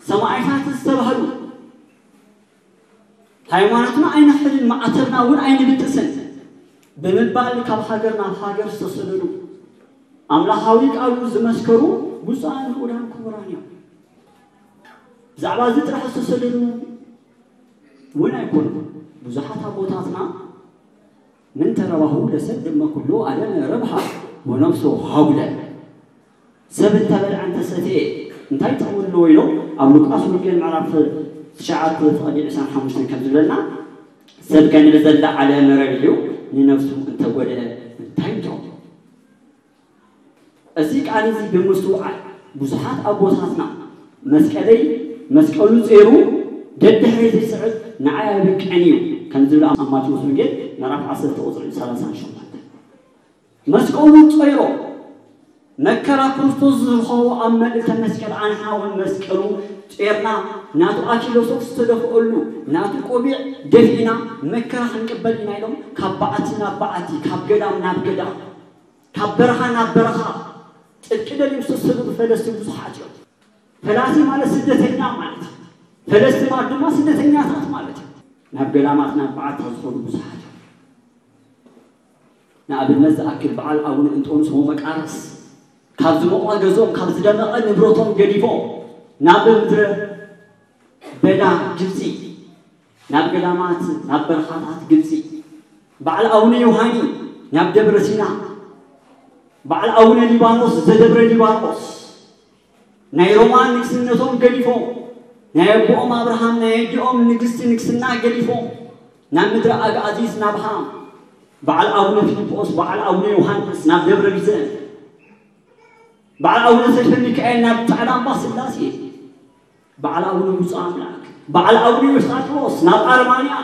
ሰማዕታት ዝተባህሉ ሃይማኖትና ኣይንሕልን ማዕተብና እውን ኣይንብጥስን ብምባል ካብ ሃገር ናብ ሃገር ዝተሰደዱ ኣምላኻዊ ቃሉ ዝመስከሩ ብፁዓን ንኡዳን ክቡራን እዮም። ብዛዕባ እዚ ጥራሕ ዝተሰደዱ እውን ኣይኮኑን። ብዙሓት ኣቦታትና ምን ተረባሁ ለሰድመ ኩሉ ኣደመ ረብሃ ወነፍሶ ሃጉለ። ሰብ እንተበልዐ እንተሰትየ እንታይ ጥቕሚ ኣለዎ ኢሎም ኣብ ሉቃስ ወንጌል ምዕራፍ ትሽዓተ ፍቕዲ ዕስራን ሓሙሽተን ከም ዝብለና ሰብ ከንብዘላ ዓለ መረብ እዩ ንነፍሱ እንተጎደ እንታይ ይጠቕሞ? እዚ ቃል እዚ ብምስትውዓል ብዙሓት ኣቦታትና መስቀለይ መስቀሉ ጼሩ ደድሕሪ ዝስዕብ ንዓይ ኣይበቅዕን እዩ ከም ዝብል ኣብ ማቴዎስ ወንጌል ምዕራፍ ዓሰርተ ቁፅሪ ሰላሳን ሸሞንተን መስቀሉ ጾይሮ መከራ ክርስቶስ ዝረኸቦ ኣብ መልእልተ መስቀል ኣንሕና እውን መስቀሉ ጾርና ናቱ ኣኪለሶፍ ዝተደፍአሉ ናቱ ቆቢዕ ደፊእና መከራ ክንቅበል ኢና ኢሎም ካብ በዓቲ ናብ በዓቲ ካብ ገዳም ናብ ገዳም ካብ በረኻ ናብ በረኻ ጽድቂ ደልዮም ዝተሰደዱ ፈለስቲ ብዙሓት እዮም። ፈላሲ ማለት ስደተኛ ማለት እዩ። ፈለስቲ ማለት ድማ ስደተኛታት ማለት እዩ። ናብ ገዳማት ናብ በዓታ ዝኾኑ ብዙሓት እዮም። ንኣብነት ዝኣክል በዓል ኣቡነ እንጦንስ ወመቃርስ ካብ ዝሞቐ ገዝኦም ካብ ዝደመቐ ንብረቶም ገዲፎም ናብ ምድረ በዳ ግብፂ ናብ ገዳማት ናብ በረኻታት ግብፂ በዓል ኣቡነ ዮሃኒ ናብ ደብረ ሲና በዓል ኣቡነ ሊባኖስ ዘደብረ ሊባኖስ ናይ ሮማ ንግስነቶም ገዲፎም ናይ ኣቦኦም ኣብርሃም ናይ ኣዲኦም ንግስቲ ንግስና ገዲፎም ናብ ምድረ ኣግኣዚዝ ናብ ሃም በዓል ኣቡነ ፊልጶስ በዓል ኣቡነ ዮሃንስ ናብ ደብረ ቢዘን በዓል ኣቡነ ሰይፈ ሚካኤል ናብ ጻዕዳ ኣምባ ስላሴ በዓል ኣቡነ ብፁዕ ኣምላክ በዓል ኣቡነ ዮስጣጥሮስ ናብ ኣርማንያ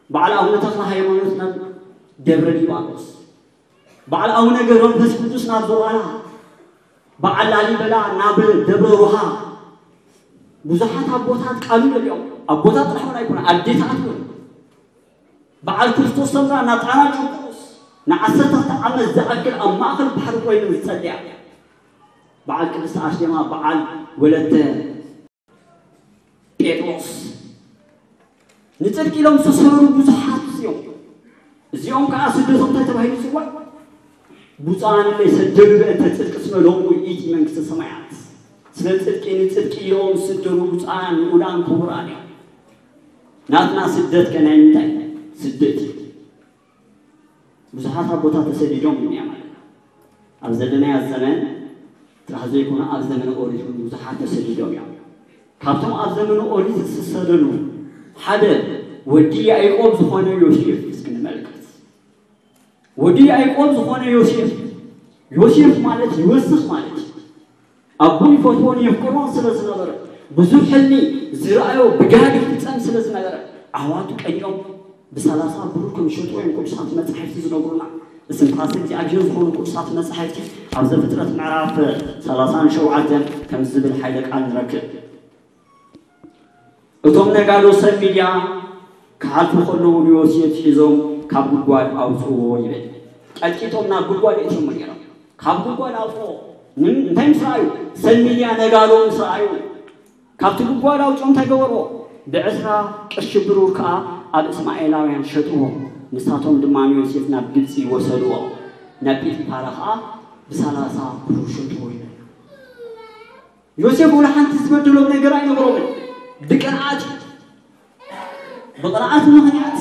በዓል ኣቡነ ተክለ ሃይማኖት ናብ ደብረ ሊባኖስ በዓል ኣቡነ ገብረ መንፈስ ቅዱስ ናብ ዞባና በዓል ላሊበላ ናብ ደብረ ሮሃ ብዙሓት ኣቦታት ቃሉ ደልዮም ኣቦታት ጥራሕ እውን ኣይኮነ ኣዴታት እውን በዓል ክርስቶስ ሰምራ ናብ ጣና ቂርቆስ ንዓሰርተ ዓመት ዝኣክል ኣብ ማእኸል ባሕሪ ኮይኑ ዝፀልያ በዓል ቅድስቲ ኣርሴማ በዓል ወለተ ጴጥሮስ ንፅድቂ ኢሎም ዝተሰረሩ ብዙሓት እዮም። እዚኦም ከዓ ስደቶም እንታይ ተባሂሉ ይፅዋዕ? ብፁዓን እለ ይሰደዱ በእንተ ጽድቅ እስመ ሎሙ ይእቲ መንግስተ ሰማያት። ስለ ጽድቂ ንጽድቂ ኢሎም ዝስደዱ ብፁዓን ንኡዳን ክቡራን እዮም። ናትና ስደት ከ ናይ ምንታይ ስደት እዩ? ብዙሓት ኣቦታት ተሰዲዶም እዮም ማለት ኣብ ዘለናዮ ዘመን ጥራሕ ዘይኮነ ኣብ ዘመነ ኦሪት እውን ብዙሓት ተሰዲዶም እዮም። ካብቶም ኣብ ዘመነ ኦሪት ዝተሰደዱ ሓደ ወዲ ያዕቆብ ዝኾነ ዮሴፍ እስኪ ንመልከት። ወዲ ያዕቆብ ዝኾነ ዮሴፍ ዮሴፍ ማለት ይወስኽ ማለት እዩ። ኣቦ ይፈትዎን የፍቅሮን ስለ ዝነበረ ብዙሕ ሕልሚ ዝረኣዮ ብጋድ ይፍጸም ስለ ዝነበረ ኣሕዋቱ ቀኒኦም ብሰላሳ ብሩር ከም ዝሸጥዎ እዮም ቅዱሳት መጻሕፍቲ ዝነግሩና። እስትንፋሰ እግዚኣብሔር ዝኾኑ ቅዱሳት መጻሕፍቲ ኣብ ዘፍጥረት ምዕራፍ ሰላሳን ሸውዓተን ከም ዝብል ሓይለ ቃል ንረክብ። እቶም ነጋዶ ሰብ ሚድያ ክሓልፉ ከለዉ ንዮሴፍ ሒዞም ካብ ጉድጓድ ኣውፅዎ ይብል። ቀጥቂጦም ናብ ጉድጓድ እቶም ነይሮም ካብ ጉድጓድ ኣውፅዎ። ምን እንታይ ምስ ረኣዩ? ሰብ ሚድያ ነጋዶ ምስ ረኣዩ ካብቲ ጉድጓድ ኣውፅኦም እንታይ ገበርዎ? ብዕስራ ቅርሺ ብሩር ከዓ ኣብ እስማኤላውያን ሸጥዎ። ንሳቶም ድማ ንዮሴፍ ናብ ግብፂ ወሰድዎ። ናብ ጲጢፋራ ከዓ ብሰላሳ ብሩር ሸጥዎ ይብል። ዮሴፍ ወላ ሓንቲ ዝበደሎም ነገር ኣይነበሮምን። ብቅንዓት እዩ። ብቅንዓት ምኽንያት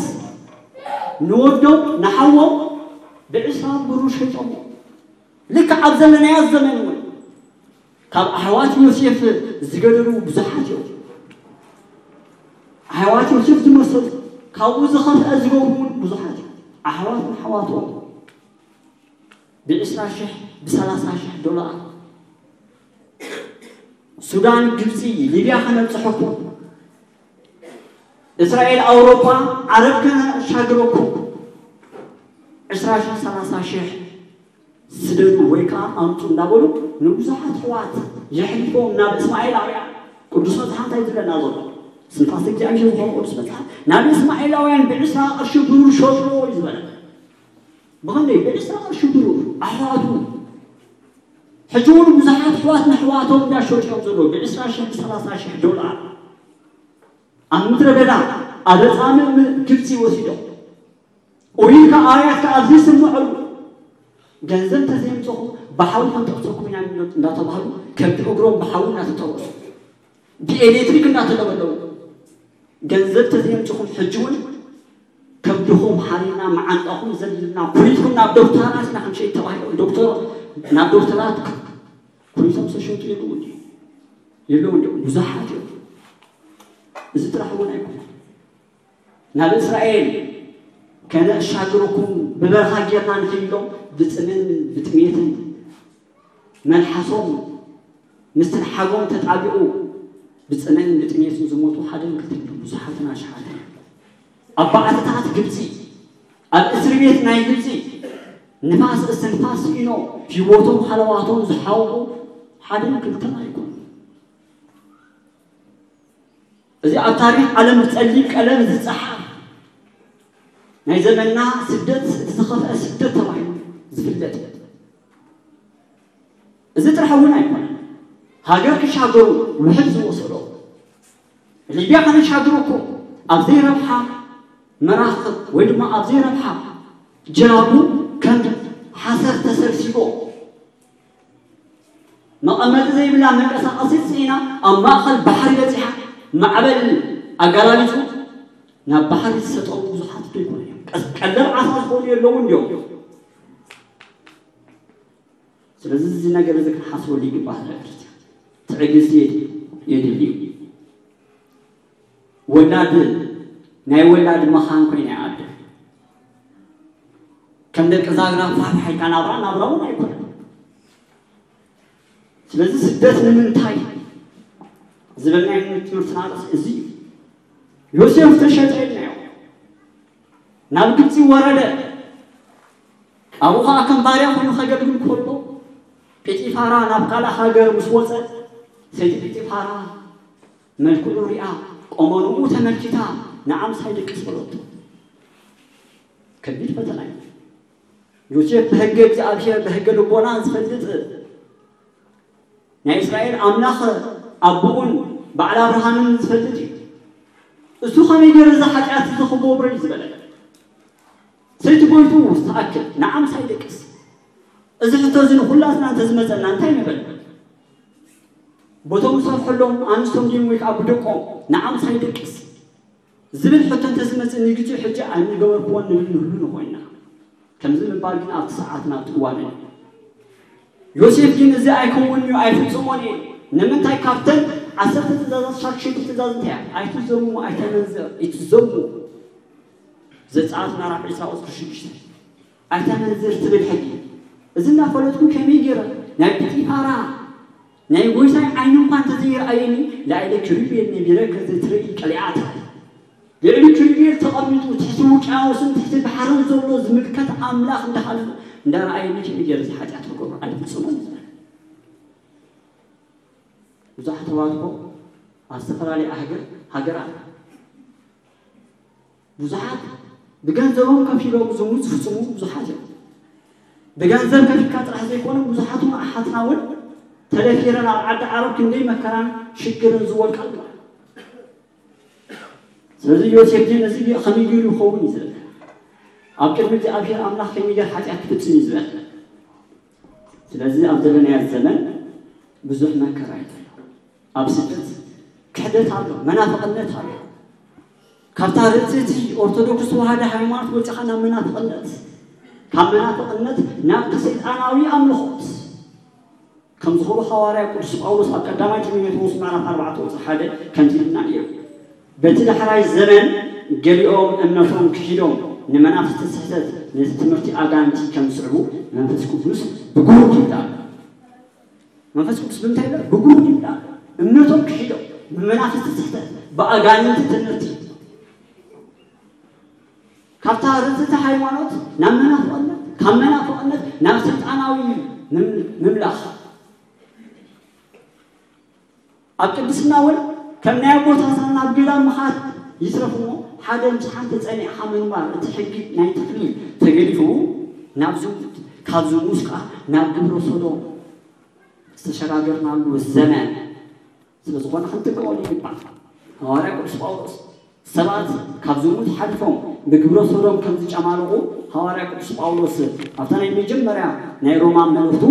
ንወዶም ንሓዎም ብዕስራ ብሩር ሸይጦሞ። ልክዕ ኣብ ዘለናዮ ዘመን እውን ካብ ኣሕዋት ዮሴፍ ዝገደሉ ብዙሓት እዮም። ኣሕዋት ዮሴፍ ዝመሰሉ ካብኡ ዝኸፍአ ዝገብሩ እውን ብዙሓት እዮም። ኣሕዋት ንኣሕዋቶም ብዕስራ ሽሕ ብሰላሳ ሽሕ ዶላር ሱዳን፣ ግብፂ፣ ሊብያ ከነብፅሐኩም፣ እስራኤል፣ ኣውሮፓ፣ ዓረብ ከነሻግረኩም፣ ዕስራ ሺሕ ሰላሳ ሺሕ ስደዱ ወይ ከዓ ኣምፁ እንዳበሉ ንብዙሓት ኣሕዋት የሕሊፎም ናብ እስማኤላውያን። ቅዱስ መፅሓፍ እንታይ ዝብለና ዘሎ? ስንፋስ እግዚኣብሔር ዝኾነ ቅዱስ መፅሓፍ ናብ እስማኤላውያን ብዕስራ ቅርሺ ብሩር ሸጥዎ እዩ ዝበለ። ብኸመይ? ብዕስራ ቅርሺ ብሩር ኣሕዋቱ። ሕጂ እውን ብዙሓት ኣሕዋት ንኣሕዋቶም እንዳሸጡ እዮም ዘለዉ፣ ብዕስራ ሺሕ ብሰላሳ ሺሕ ዶላር ኣብ ምድረ በዳ ኣብ ኣጻምእ ግብፂ ወሲዶም። ኡይ ከኣያት ከኣ ኣብዚ ስምዐሉ። ገንዘብ ተዘይምፅኹም ብሓዊ ክንጠቕሰኩም ኢና እንዳተባህሉ ከብዲ እግሮም ብሓዊ እናተጠወሱ ብኤሌክትሪክ እናተለበለቡ። ገንዘብ ተዘይምፅኹም ሕጂ እውን ከብድኹም ሓሪና መዓንጣኹም ዘሊልና ኩሊትኩም ናብ ዶክተራት ኢና ክንሸይድ ተባሂሎም። ዶክተር ናብ ዶክተራት ኩሊቶም ዝተሸጡ የለዉ እንዲ የለዉ እንዲ ብዙሓት እዮም። እዚ ጥራሕ እውን ኣይኮነን። ናብ እስራኤል ከነሻግረኩም ብበረኻ ጌርና ንኽይሎም ብፅምን ብጥሜትን መልሓሶም ምስትንሓጎም ተጣቢቑ ብፅምን ብጥሜትን ዝሞቱ ሓደን ክልተን ብዙሓትን ኣሽሓትን ኣብ ባዕትታት ግብፂ ኣብ እስር ቤት ናይ ግብፂ ንፋስ እስትንፋስ ስኢኖ ህይወቶም ሃለዋቶም ዝሓወቑ ሓደን ክልተን ኣይኮኑ። እዚ ኣብ ታሪኽ ዓለም ብፀሊም ቀለም ዝፀሓፍ ናይ ዘመንና ስደት እቲ ዝኸፍአ ስደት ተባሂሉ ዝፍለጥ እዩ። እዚ ጥራሕ እውን ኣይኮነን። ሃገር ክሻገሩ ውሕድ ዝወሰዶ ሊብያ ከነሻግረኩም ኣብ ዘይረብሓ መራኽብ ወይ ድማ ኣብ ዘይረብሓ ጀላቡ ከም ሓሰር ተሰብሲቦ መቐመጢ ዘይብላ መንቀሳቐሲት ስኢና ኣብ ማእኸል ባሕሪ በፂሓ ማዕበል ኣጋላቢፁ ናብ ባሕሪ ዝሰጠሙ ብዙሓት ዶ ይኮኑ እዮም? ቀስ- ቀለብ ዓሳ ዝኾኑ የለውን ድዮም? ስለዚ እዚ ነገር እዚ ክንሓስበሉ ይግባእ። ህዝበ ክርስቲያን ትዕግስቲ የድሊ- የድሊ እዩ። ወላድ ናይ ወላድ መኻን ኮይና እያ ኣደ። ከም ደቂ ዛግራ ፋሕፋሕ ኢልካ ናብራ ናብራ እውን ኣይኮነን። ስለዚ ስደት ንምንታይ ዝብል ናይ ትምህርትና ርእሲ እዚ እዩ። ዮሴፍ ተሸጠ ኢልናዮ። ናብ ግብፂ ወረደ። ኣብኡ ከዓ ከም ባርያ ኮይኑ ከገልግል ከሎ ጲጢፋራ ናብ ካልእ ሃገር ምስ ወፀ ሰይቲ ጲጢፋራ መልክዑ ሪኣ ቆመንኡ ተመልኪታ ንዓምሳይ ደቅስ በለቶ። ከቢድ ፈተና እዩ። ዮሴፍ ብሕገ እግዚኣብሔር ብሕገ ልቦና ዝፈልጥ ናይ እስራኤል ኣምላኽ ኣቦኡን በዓል ኣብርሃምን ዝፈልጥ እዩ። እሱ ከመይ ገይሩ እዚ ሓጢኣት እዚ ክገብሮ እዩ ዝበለ? ሰይቲ ጎይቱ ዝተኣክል ንዓምሳይ ደቅስ። እዚ ሕቶ እዚ ንኹላትና እንተዝመፀና እንታይ ንብል? ቦቶም ዝሰርሐሎም ኣንስቶም ድዮም ወይ ከዓ ብደቆም ንዓምሳይ ደቅስ ዝብል ሕቶ እንተዝመፅእ ንግዜኡ ሕጂ ኣይምገበርክዎን ንብል ንህሉ ንኾይና። ከምዚ ምባል ግን ኣብቲ ሰዓትን ኣብቲ እዋንን እዩ። ዮሴፍ ግን እዚ ኣይከውንን እዩ፣ ኣይፍፅሞን እየ። ንምንታይ? ካብተን ዓሰርተ ትእዛዛት ሻድሸይቲ ትእዛዝ እንታይ እያ? ኣይትዘሙ፣ ኣይተመንዝር፣ ኣይትዘሙ። ዘጸኣት ምዕራፍ ዕስራ ቁጽሪ ሽዱሽተ። ኣይተመንዝር ትብል ሕጊ። እዚ እናፈለጥኩ ከመይ ገይረ ናይ ጲጢፋራ ናይ ጎይታይ ዓይኒ እኳ እንተዘይረኣየኒ ላዕሊ ኪሩቤል ነቢረ ከዘትርኢ ቀሊዓታ። ልዕሊ ኪሩቤል ተቐሚጡ ትሕቲ ውቅያኖስን ትሕቲ ባሕርን ዘሎ ዝምልከት ኣምላኽ እንዳሃለ እንዳረኣየኒ ከመይ ገይረ እዚ ሓጢኣት ክገብሮ ኣይፍጽሞን። ብዙሓት ተዋትኮ ኣብ ዝተፈላለያ ሃገር ሃገራት ብዙሓት ብገንዘቦም ከፊሎም ዝሙት ዝፍጽሙ ብዙሓት እዮም። ብገንዘብ ከፊልካ ጥራሕ ዘይኮነ ብዙሓት እውን ኣሓትና እውን ተደፊረን ኣብ ዓዲ ዓረብ ክንደይ መከራን ሽግርን ዝወድቃ ኣለዋ። ስለዚ ዮሴፍ ግን እዚ ከመይ ገይሩ ይኸውን እዩ ዝብል። ኣብ ቅድሚ እግዚኣብሔር ኣምላኽ ከመይ ገይሩ ሓጢኣት ክፍጽም እዩ ዝብል። ስለዚ ኣብ ዘለናዮ ዘመን ብዙሕ መከራ እዩ ዘሎ። ኣብ ስደት ክሕደት ኣሎ፣ መናፍቕነት ኣሎ። ካብታ ርእቲ እቲ ኦርቶዶክስ ተዋህዶ ሃይማኖት ወፂኻ ናብ መናፍቕነት፣ ካብ መናፍቕነት ናብቲ ሰይጣናዊ ኣምልኾት ከም ዝኸዱ ሃዋርያ ቅዱስ ጳውሎስ ኣብ ቀዳማይ ጢሞቴዎስ ምዕራፍ ኣርባዕተ ቁጽሪ ሓደ ከምዚ ኢልና እዩ። በቲ ዳሕራይ ዘመን ገሊኦም እምነቶም ክሒዶም ንመናፍስቲ ስሕተት ነቲ ትምህርቲ ኣጋንንቲ ከም ዝስዕቡ መንፈስ ቅዱስ ብግሁድ ይብዳ ኣሎ። መንፈስ ቅዱስ ብምንታይ ይብዳ? ብግሁድ ይብዳ ኣሎ። እምነቶም ክሒዶም ብመናፍስቲ ስሕተት ብኣጋንንቲ ትምህርቲ ካብታ ርትዕቲ ሃይማኖት ናብ መናፍቕነት ካብ መናፍቕነት ናብ ስልጣናዊ ምምላኽ ኣብ ቅድስና እውን ከም ናይ ኣቦታትና ናብ ገዳም ምኻድ ይትረፍ እሞ ሓደ ምስ ሓንቲ ጸኒዕኻ ምንባር እቲ ሕጊ ናይ ተኽሊል ተገዲፉ ናብ ዝሙት ካብ ዝሙት ከዓ ናብ ግብረ ሶዶም ዝተሸጋገርናሉ ዘመን ስለ ዝኾነ ክንጥንቀቐሉ ይግባእ። ሃዋርያ ቅዱስ ጳውሎስ ሰባት ካብ ዝሙት ሓሊፎም ብግብረ ሶዶም ከም ዝጨማለቑ ሃዋርያ ቅዱስ ጳውሎስ ኣብታ ናይ መጀመርያ ናይ ሮማ መልእኽቱ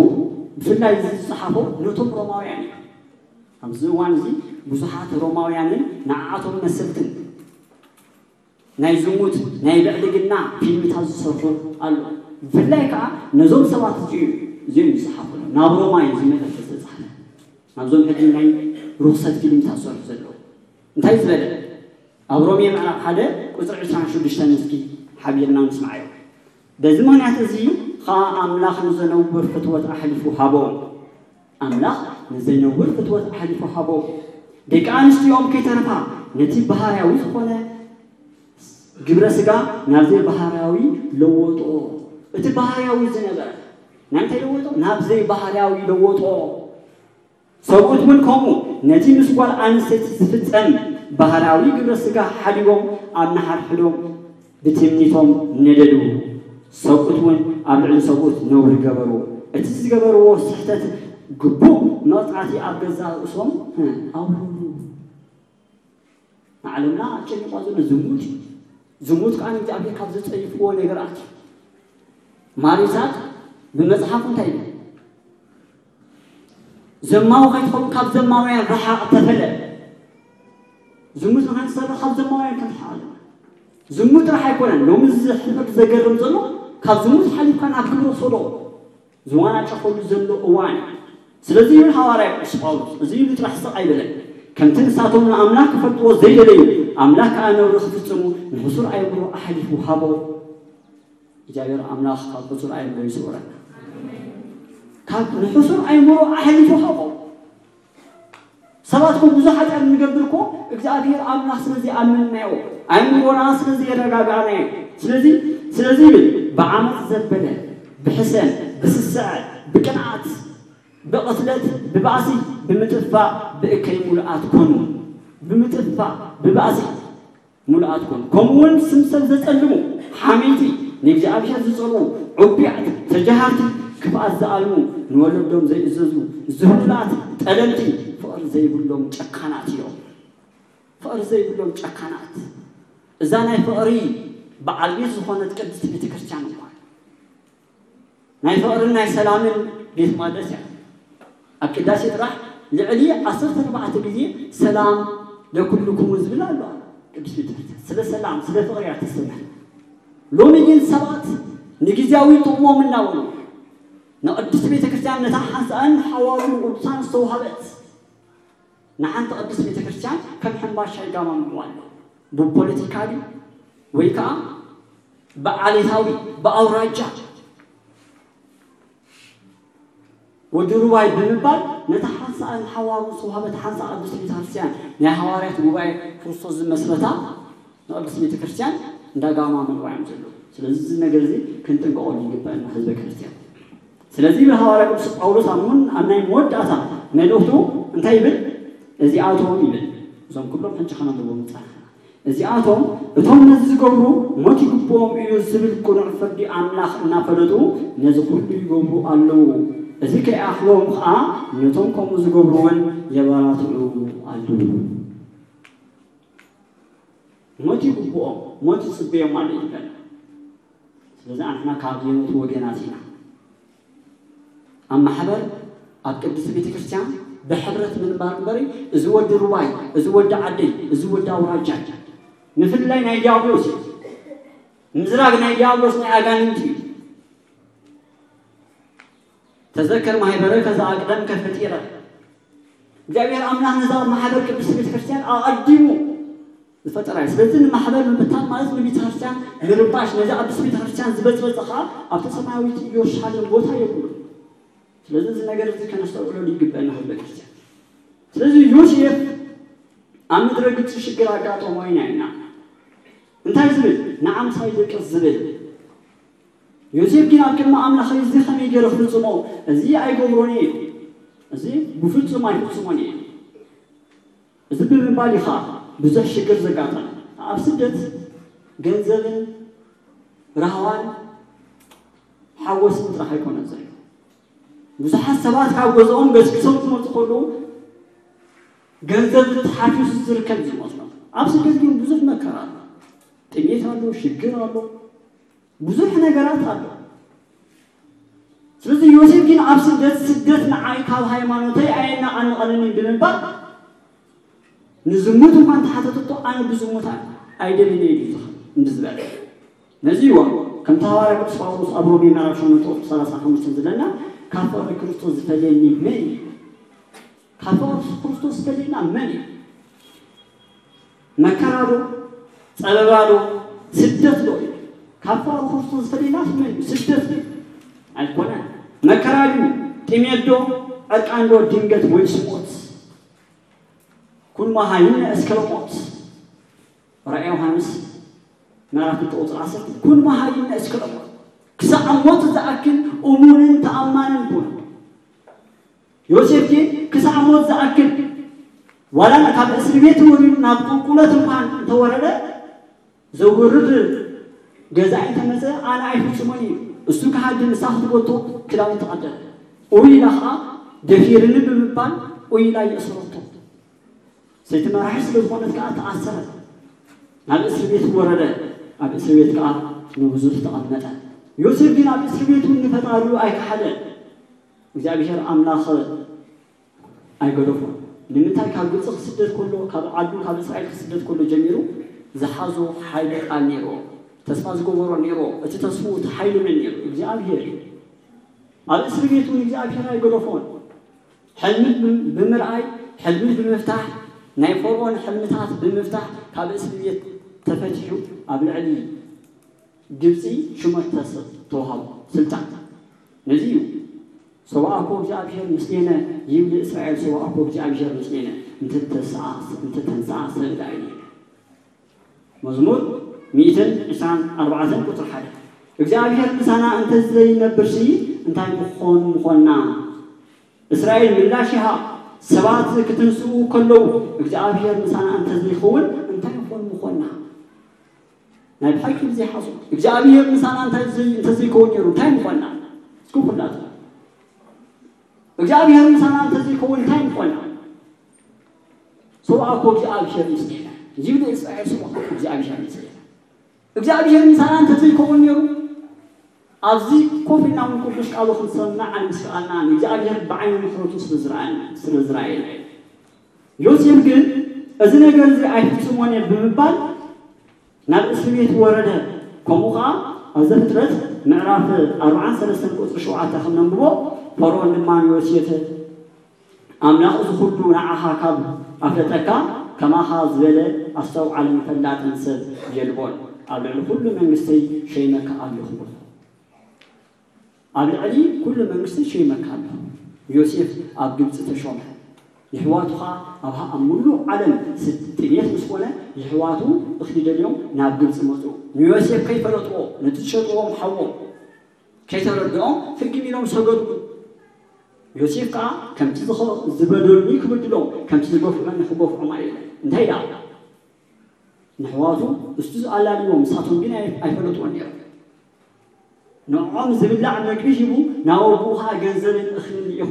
ብፍላይ ዝጸሓፎ ነቶም ሮማውያን እዩ። ኣብዚ እዋን እዚ ብዙሓት ሮማውያንን ንዓኣቶም መሰልትን ናይ ዝሙት ናይ ብዕልግና ፊልምታት ዝሰርሑ ኣሎ። ብፍላይ ከዓ ነዞም ሰባት እዚኦም እዮም ዝጸሓፉ። ናብ ሮማ እዩ ዝመለስ ዝተጻሕፈ ናብዞም ሕጂ ናይ ርኹሰት ፊልምታት ዝሰርሑ ዘለዉ እንታይ ዝበለ ኣብ ሮሜ ምዕራፍ ሓደ ቁፅሪ ዕስራን ሽዱሽተን እስኪ ሓቢርና ንስማዓዮ። በዚ ምኽንያት እዚ ከዓ ኣምላኽ ንዘነውር ፍትወት ኣሕሊፉ ሃቦም። ኣምላኽ ንዘይነውር ፍትወት ኣሕሊፉ ሃቦም። ደቂ ኣንስትዮኦም ከይተረፋ ነቲ ባህርያዊ ዝኾነ ግብረ ስጋ ናብ ዘይባህርያዊ ለወጦ። እቲ ባህርያዊ ዝነበረ ናብ እንታይ ለወጦ? ናብ ዘይባህርያዊ ለወጦ። ሰብኡት እውን ከምኡ ነቲ ምስ ጓል ኣንስተይቲ ዝፍጸም ባህርያዊ ግብረ ስጋ ሓዲጎም ኣብ ንሓድሕዶም ብትምኒቶም ነደዱ። ሰብኡት እውን ኣብ ልዕሊ ሰብኡት ነውሪ ገበሩ። እቲ ዝገበርዎ ስሕተት ግቡእ መቕጻዕቲ ኣብ ገዛእ ርእሶም ኣውረዱ። ንዓለምና ኣጨኒቋ ዘሎ ዝሙት እዩ። ዝሙት ከዓ ንእግዚኣብሔር ካብ ዘጸይፍዎ ነገራት እዩ። ማር ይስሐቅ ብመጽሓፉ እንታይ ይብል? ዘማዊ ከይትኸውን ካብ ዘማውያን ረሓቕ ተፈለ። ዝሙት ንኸንሰርሕ ካብ ዘማውያን ክንርሓቕ ኣለና። ዝሙት ጥራሕ ኣይኮነን። ሎሚ እዚ ሕፍረት ዘገርም ዘሎ ካብ ዝሙት ሓሊፍካ ናብ ግብረ ሶዶም ዝዋናጨፈሉ ዘሎ እዋን እዩ። ስለዚ ይብል ሃዋርያ ቅዱስ ጳውሎስ፣ እዚ ኢሉ ጥራሕ ስቕ ኣይበለን። ከምቲ ንሳቶም ንኣምላኽ ክፈልጥዎ ዘይደለዩ፣ ኣምላኽ ከኣ ነውሪ ክፍጽሙ ንሕሱር ኣእምሮ ኣሕሊፉ ሃቦ። እግዚኣብሔር ኣምላኽ ካብ ሕሱር ኣእምሮ ይስውረና። ካብ ንሕሱር ኣእምሮ ኣሕሊፉ ሃቦ። ሰባት እኮ ብዙሕ ሓጢኣት ንገብር እኮ እግዚኣብሔር ኣምላኽ ስለ ዘይኣመንናዮ፣ ኣእምሮና ስለ ዘየረጋጋእናዮ። ስለዚ ስለዚ ይብል ብዓመፅ ዘበለ ብሕሰም ብስስዐ ብቅንዓት ብቕትለት ብባእሲ ብምጥፋእ ብእከይ ሙሉኣት ኮኑ። ብምጥፋእ ብባእሲ ሙሉኣት ኮኑ። ከምኡ እውን ስም ሰብ ዘጸልሙ፣ ሓመይቲ፣ ንእግዚኣብሔር ዝጸልኡ፣ ዑቢያት፣ ተጃሃርቲ፣ ክፍኣት ዝኣልሙ፣ ንወለዶም ዘይእዘዙ፣ ዝህሉላት፣ ጠለምቲ፣ ፍቕሪ ዘይብሎም ጨካናት እዮም። ፍቕሪ ዘይብሎም ጨካናት። እዛ ናይ ፍቕሪ በዓል ቤት ዝኾነት ቅድስቲ ቤተ ክርስቲያን እኳ ናይ ፍቕርን ናይ ሰላምን ቤት መቕደስ እያ። ኣብ ቅዳሴ ጥራሕ ልዕሊ ዓሰርተ ኣርባዕተ ግዜ ሰላም ለኩልኩሙ ዝብል ኣሎ። ቅዱስ ቤተክርስትያን ስለ ሰላም ስለ ፍቕሪ እያ ተስተምህር። ሎሚ ግን ሰባት ንግዜያዊ ጥቕሞም እናበሉ ንቅድስቲ ቤተክርስትያን ነታ ሓንሳእን ሓዋሩን ቅዱሳን ዝተዋህበት ንሓንቲ ቅድስቲ ቤተክርስትያን ከም ሕምባሻ ይጋማምዑዋ ኣለዉ። ብፖለቲካ ድዩ ወይ ከዓ ብዓሌታዊ ብኣውራጃ ወዲ ሩባይ ብምባል ነታ ሓንሳእ ንሓዋሩ ዝተዋህበት ሓንሳእ ቅድስቲ ቤተክርስትያን ናይ ሃዋርያት ጉባኤ ክርስቶስ ዝመስረታ ንቅድስቲ ቤተክርስትያን እንዳጋማመዑዋ እዮም ዘለዉ። ስለዚ እዚ ነገር እዚ ክንጥንቀቐሉ ይግበአና ህዝበ ክርስትያን። ስለዚ ይብል ሃዋርያ ቅዱስ ጳውሎስ ኣብ ምን ኣብ ናይ መወዳእታ መልእኽቱ እንታይ ይብል? እዚኣቶም ይብል እዞም ኩሎም ሕጂ ከነንብቦም ንጸናሕና እዚኣቶም እቶም ነዚ ዝገብሩ ሞት ይግብኦም እዩ ዝብል ቅኑዕ ፍርዲ ኣምላኽ እናፈለጡ ነዚ ኩሉ ይገብሩ ኣለዉ። እዚ ከይኣኽሎም ኸዓ ነቶም ከምኡ ዝገብሩ እውን የበራትዑ ኣለዉ። ሞት ይግብኦም፣ ሞት ይጽበዮም ኣሎ ይብለና። ስለዚ ኣንሕና ካብ የሞቱ ወገናት ኢና። ኣብ ማሕበር ኣብ ቅድስቲ ቤተ ክርስቲያን ብሕብረት ምንባር እምበሪ እዚ ወዲ ሩባይ፣ እዚ ወዲ ዓደይ፣ እዚ ወዲ ኣውራጃይ ምፍልላይ ናይ ዲያብሎስ እዩ። ምዝራግ ናይ ዲያብሎስ ናይ ኣጋንንቲ እዩ። ተዘከር ማሕበረ ከዛ ኣቅደም ከፈጢረ እግዚኣብሔር ኣምላኽ ነዛ ማሕበር ቅድስቲ ቤተ ክርስቲያን ኣቐዲሙ ዝፈጠራ እዩ። ስለዚ ንማሕበር ምብታን ማለት ንቤተ ክርስቲያን ምርባሽ፣ ነዚ ኣዲስ ቤተ ክርስቲያን ዝበጽበጸ ኸዓ ኣብቲ ሰማያዊት ኢየሩሳሌም ቦታ የብሉ። ስለዚ እዚ ነገር እዚ ከነስተውዕለሉ ይግበአና ህዝበ ክርስቲያን። ስለዚ ዮሴፍ ኣብ ምድረ ግብፂ ሽግር ኣጋጠሞ ኢና ኢና እንታይ ዝብል ንዓምሳይ ደቅስ ዝብል ዮሴፍ ግን ኣብ ቅድሚ ኣምላኽ እዚ ከመይ ገይረ ክፍፅሞ እዚ ኣይገብሮን እየ እዚ ብፍፁም ኣይፍፅሞን እየ እዚ ብምባል ኢኻ ብዙሕ ሽግር ዘጋጠመ ኣብ ስደት ገንዘብን ራህዋን ሓጎስን ጥራሕ ኣይኮነን ዘሎ ብዙሓት ሰባት ካብ ገዝኦም ገስግሶም ክመፁ ከለዉ ገንዘብ ተሓፊሱ ዝርከብ ዝመስሎም ኣብ ስደት ግን ብዙሕ መከራ ኣሎ ጥሜት ኣሎ ሽግር ኣሎ ብዙሕ ነገራት ኣሎ ስለዚ ዮሴፍ ግን ኣብ ስደት ስደት ንዓይ ካብ ሃይማኖተይ ኣየናቓንቐንን እዩ ብምባል ንዝሙት እንኳን ተሓተተቶ ኣነ ብዝሙት ኣይደልን እዩ እንዲ ዝበለ ነዚ ይዋ ከምቲ ሃዋርያ ቅዱስ ጳውሎስ ኣብ ሮሜ ምዕራፍ ሸሞንተ ቁፅሪ ሰላሳ ሓሙሽተ ዝብለና ካብ ፍቕሪ ክርስቶስ ዝፈልየኒ መን እዩ ካብ ፍቕሪ ክርስቶስ ዝፈልየና መን እዩ መከራ ዶ ጸበባ ዶ ስደት ዶ እዩ ካብ ፍቕሪ ክርስቶስ ዝፈልየና መን እዩ ስደት ዶ ኣይኮነን መከራ ድዩ ጥሜት ዶ ዕርቃን ዶ ድንገት ወይስ ሞት ኩን መሃይነ እስከ ሞት ራእየ ዮሃንስ ምዕራፍ ክልተ ቁፅሪ ዓሰርተ ኩን መሃይነ እስከ ሞት ክሳዕ ሞት ዝኣክል እሙንን ተኣማንን ኩን ዮሴፍ ግን ክሳዕ ሞት ዝኣክል ዋላ ካብ እስር ቤት ወሪዱ ናብ ቁልቁለት እንኳን እንተወረደ ዘውርድ ገዛኢ እንተመፀ ኣነ ኣይፍፅሞን እዩ እሱ ክሃዲ ንሳ ክትጎቶ ክዳውንቲ ቀደደ ኡይላ ከዓ ደፊርኒ ብምባል ኡይላ የእሰረቶ ሰይቲ መራሒ ስለ ዝኾነት ከዓ ተኣሰረ ናብ እስር ቤት ወረደ ኣብ እስር ቤት ከዓ ንብዙሕ ተቐመጠ ዮሴፍ ግን ኣብ እስር ቤት እውን ንፈጣሪኡ ኣይከሓደን እግዚኣብሔር ኣምላኽ ኣይገደፎን። ንምንታይ ካብ ግብፂ ክስደድ ከሎ ካብ ዓዱ ካብ እስራኤል ክስደድ ከሎ ጀሚሩ ዝሓዞ ሓይሊ ቃል ነይርዎ። ተስፋ ዝገበሮ ነይርዎ። እቲ ተስፍኡ እቲ ሓይሊ መን ነይሩ? እግዚኣብሄር እዩ። ኣብ እስሪ ቤት እውን እግዚኣብሄር ኣይገደፎን። ሕልሚ ብምርኣይ ሕልሚ ብምፍታሕ ናይ ፈርዖን ሕልምታት ብምፍታሕ ካብ እስሪ ቤት ተፈቲሑ ኣብ ልዕሊ ግብፂ ሹመት ተስ- ተዋሃቦ ስልጣን። ነዚ እዩ ሰዋእኮ እግዚኣብሔር ምስሌነ ይብል እስራኤል ሰዋእኮ እግዚኣብሔር ምስሌነ እንተተንስኣ ሰብዳ እዩ። መዝሙር ሚእትን ዕስራን ኣርባዕተን ቁፅሪ ሓደ እግዚኣብሔር ምሳና እንተዘይነብርሲ እንታይ ምኾን ምኾንና? እስራኤል ምላሽ ይሃብ ሰባት ክትንስኡ ከለዉ እግዚኣብሔር ምሳና እንተዘይኸውን እንታይ ምኾን ምኾንና? ናይ ብሓቂ ብዘይ ሓሶት እግዚኣብሔር ምሳና እንታይ ዘይ- እንተዘይከውን ነይሩ እንታይ ምኾንና? እስኪ ኩላትና እግዚኣብሔር ምሳና እንተዘይከውን እንታይ ምኾንና? ሰብኣኮ እግዚኣብሔር ምስሌነ ይብል እስራኤል ሰብኣኮ እግዚኣብሔር ምስሌነ እግዚኣብሔር ምሳና እንተዘይከውን ነይሩ ኣብዚ ኮፍ ኢልና እውን ቅዱስ ቃሉ ክንሰምዕ ኣይምስኣልና ንእግዚኣብሔር ብዓይኒ ምሕረቱ ስለ ዝረኣየና ስለ ዝረኣየና ዮሴፍ ግን እዚ ነገር እዚ ኣይፍጽሞን እየ ብምባል ናብ እስር ቤት ወረደ። ከምኡ ኸዓ ኣብ ዘፍጥረት ምዕራፍ ኣርብዓን ሰለስተን ቁፅሪ ሸውዓተ ከም ነንብቦ ፈርኦን ድማ ንዮሴፍ ኣምላኽ እዚ ኩሉ ንዓኻ ካብ ኣፍለጠካ ከማኻ ዝበለ ኣስተውዓልን ፈላጥን ሰብ የልቦን። ኣብ ልዕሊ ኩሉ መንግስተይ ሸይመካ ኣለኹ። ኣብ ልዕሊ ኩሉ መንግስቲ ሸይመካ ኣሎ። ዮሴፍ ኣብ ግብፂ ተሾመ። የሕዋቱ ኸዓ ኣብ ኣብ ሙሉእ ዓለም ጥሜት ምስ ኮነ የሕዋቱ እኽሊ ደልዮም ናብ ግብፂ መፁ። ንዮሴፍ ከይፈለጥዎ ነቲ ዝሸጥዎም ሓዎም ከይተረድኦም ፍግም ኢሎም ሰገድሉ። ዮሴፍ ከዓ ከምቲ ዝበደሉኒ ክብድሎም ከምቲ ዝገፍዑኒ ክገፍዖም ኣይእለን። እንታይ ደኣ ንሕዋቱ እስቱ ዝኣላልዎም ንሳቶም ግን ኣይፈለጥዎን ነይሮም። ንዕኦም ዝብላዕ መግቢ ሂቡ ናብ ኣቦኡ ኸዓ ገንዘብን እኽልን ልኢኹ።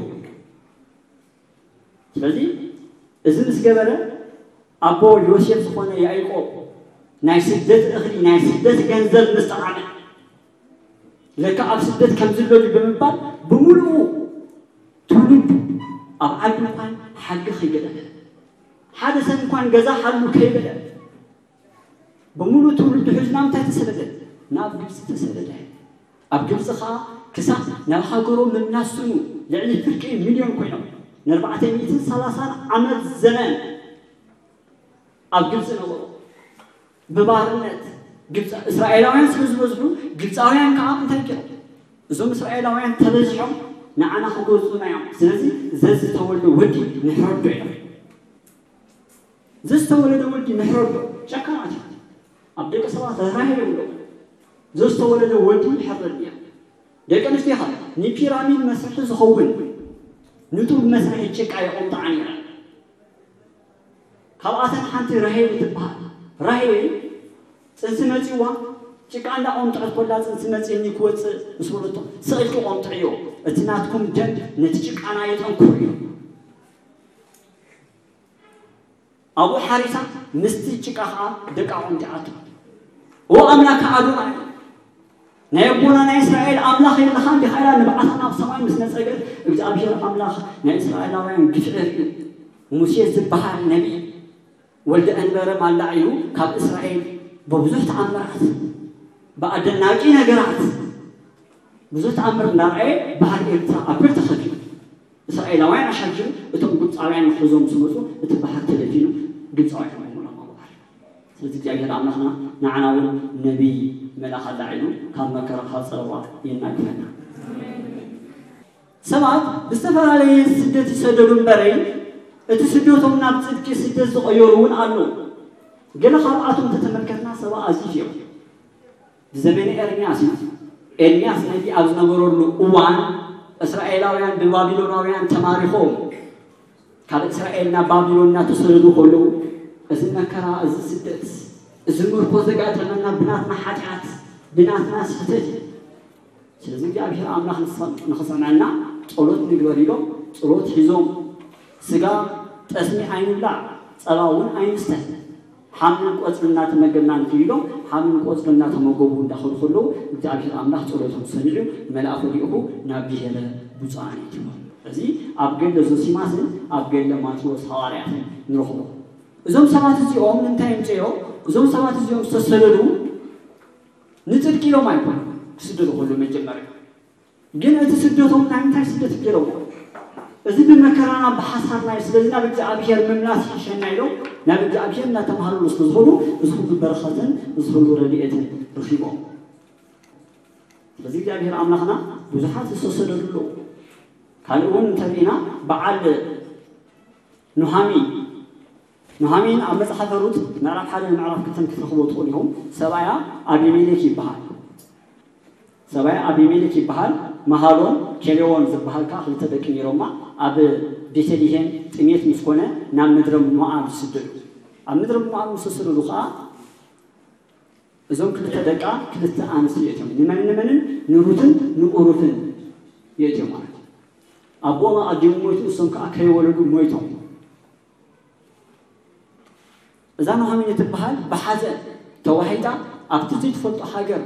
ስለዚ እዚ ምስ ገበረ ኣቦ ዮሴፍ ዝኾነ ያዕቆብ ናይ ስደት እኽሊ ናይ ስደት ገንዘብ ምስ ጠዓመ ለካ ኣብ ስደት ከም ዝለሉ ብምባል ብምሉኡ ትውልዱ ኣብ ዓዲ እንኳን ሓጊ ከይገደፈ ሓደ ሰብ እንኳን ገዛ ሓሉ ከይበለ ብምሉእ ትውልዱ ሒዙ ናብ እንታይ ተሰደደ? ናብ ግብፂ ተሰደደ። ኣብ ግብፂ ከዓ ክሳብ ናብ ሃገሮም ምምላስ ስኑ ልዕሊ ፍርቂ ሚልዮን ኮይኖም ንኣርባዕተ ሚእትን ሰላሳን ዓመት ዘመን ኣብ ግብፂ ነበሩ። ብባርነት ግብፂ እስራኤላውያን ስለ ዝበዝሑ ግብፃውያን ከዓ እንታይ ገይሮም? እዞም እስራኤላውያን ተበዚሖም ንዓና ክገዝኡና እዮም። ስለዚ ዘዝተወልደ ወዲ ንሕረዶ እዮም። ዘዝተወለደ ወዲ ንሕረዶ። ጨካናት እዮም። ኣብ ደቂ ሰባት ርህራሄ የብሎም። ዘዝተወለደ ወዲ ይሕረድ እዮም። ደቂ ኣንስትዮ ኸ ንፒራሚድ መስርሒ ዝኸውን ንጡብ መስርሒ ጭቃ የቐምጥዓን እየን። ካብኣተን ሓንቲ ራሄል ትበሃል። ራሄል ጽንሲ መጺዋ ጭቃ እንዳቐምጠት ኮላ ጽንሲ መጺኒ ክወጽእ ምስ በለቶ ስቕ ኢልኪ ቆምጥዕዮ፣ እቲ ናትኩም ደም ነቲ ጭቃና የጠንክሮ እዩ። ኣብኡ ሓሪሳ ምስቲ ጭቃ ኸዓ ደቃ ቆምጢዓቶ። ኦ ኣምላክ ኣዶናይ ናይ ኣቦና ናይ እስራኤል ኣምላኽ የለኻን ዲኻ ኢላ ንብዓታ ናብ ሰማይ ምስ ነጸገት እግዚኣብሔር ኣምላኽ ናይ እስራኤላውያን ግፍዒ ርእዩ። ሙሴ ዝበሃል ነቢይ ወልደ ኣንበረ ማላዕ ኢሉ ካብ እስራኤል ብብዙሕ ተኣምራት ብኣደናቂ ነገራት ብዙሕ ተኣምር እንዳርኣየ ባህር ኤርትራ ኣብ ክልተ ከፊሉ እስራኤላውያን ኣሻጅም እቶም ግብፃውያን ንሕዞም ምስ መፁ እቲ ባህር ተደፊኑ ግብፃውያን ሞይሞሎም ኣብ ባህር። ስለዚ እግዚኣብሔር ኣምላኽና ንዓና እውን ነቢይ መልኣኽ ኣላዒሉ ካብ መከራ ካብ ፀረባ የናግፈና። ሰባት ብዝተፈላለየ ስደት ይሰደዱ እምበረይ እቲ ስደቶም ናብ ፅድቂ ስደት ዝቐየሩ እውን ኣለዉ። ገለ ካብኣቶም እንተተመልከትና ሰባ ኣዚዝ እዮም። ብዘመነ ኤርምያስ እዩ። ኤርምያስ ነቢ ኣብ ዝነበረሉ እዋን እስራኤላውያን ብባቢሎናውያን ተማሪኾም ካብ እስራኤል ናብ ባቢሎን እናተሰደዱ ከለዉ እዚ መከራ፣ እዚ ስደት፣ እዚ ምርኮ ዘጋጠመና ብናትና ሓጢኣት፣ ብናትና ስሕተት እዩ። ስለዚ እግዚኣብሔር ኣምላኽ ንክሰምዐና ጸሎት ንግበር ኢሎም ጸሎት ሒዞም ስጋ ጠስሚ ኣይንብላዕ፣ ጸባ እውን ኣይንስተ፣ ሓምን ቆጽሊ እናተመገብና ንኽይሎም ሓምን ቆጽሊ እናተመገቡ እንዳኸዱ ከለዉ እግዚኣብሔር ኣምላኽ ጸሎቶም ሰሚዑ መልኣኹ ልኢኹ ናብ ብሔረ ብፁዓን ይእትዎም። እዚ ኣብ ገድለ ዞሲማስን ኣብ ገድለ ማቴዎስ ሃዋርያትን ንረኽቦ። እዞም ሰባት እዚኦም እንታይ ምፅኦ? እዞም ሰባት እዚኦም ዝተሰደዱ ንፅድቂ ኢሎም ኣይኮኑ ክስደዱ ከሎ መጀመርያ ግን እቲ ስደቶም ናይ ምንታይ ስደት ገይሮም እዚ ብመከራና ብሓሳርና እዩ። ስለዚ ናብ እግዚኣብሔር ምምላስ ይሕሸና ኢሎም ናብ እግዚኣብሔር እናተማሃሩ ስለ ዝኸዱ እዚ ሁሉ በረኸትን እዚ ሁሉ ረድኤትን ረኺቦም። ስለዚ እግዚኣብሔር ኣምላኽና ብዙሓት ዝተሰደዱ ኣለዉ። ካልእ እውን እንተሪእና በዓል ኑሃሚ ኑሃሚን ኣብ መጽሓፈ ሩት ምዕራፍ ሓደ ምዕራፍ ክልተን ክትረኽቦ ትኽእሉ ኢኹም። ሰብኣያ ኣቢሜሌክ ይበሃል። ሰብኣያ ኣቢሜሌክ ይበሃል። መሃሎን ኬሌዎን ዝበሃል ከኣ ክልተ ደቂ ነይሮማ። ኣብ ቤተልሔም ጥሜት ምስ ኮነ ናብ ምድረ ሞኣብ ዝስደዱ። ኣብ ምድረ ሞኣብ ምስ ተሰደዱ ከኣ እዞም ክልተ ደቃ ክልተ ኣንስቲ የእትዮም። ንመን ንመንን ንሩትን ንኡሩፍን የእትዮም ማለት እዩ። ኣቦኦም ኣቐዲሙ ሞይቱ እሶም ከኣ ከይወለዱ ሞይቶም። እዛ ኑሃሚን እትበሃል ብሓዘን ተዋሒጣ ኣብቲ ዘይትፈልጦ ሃገር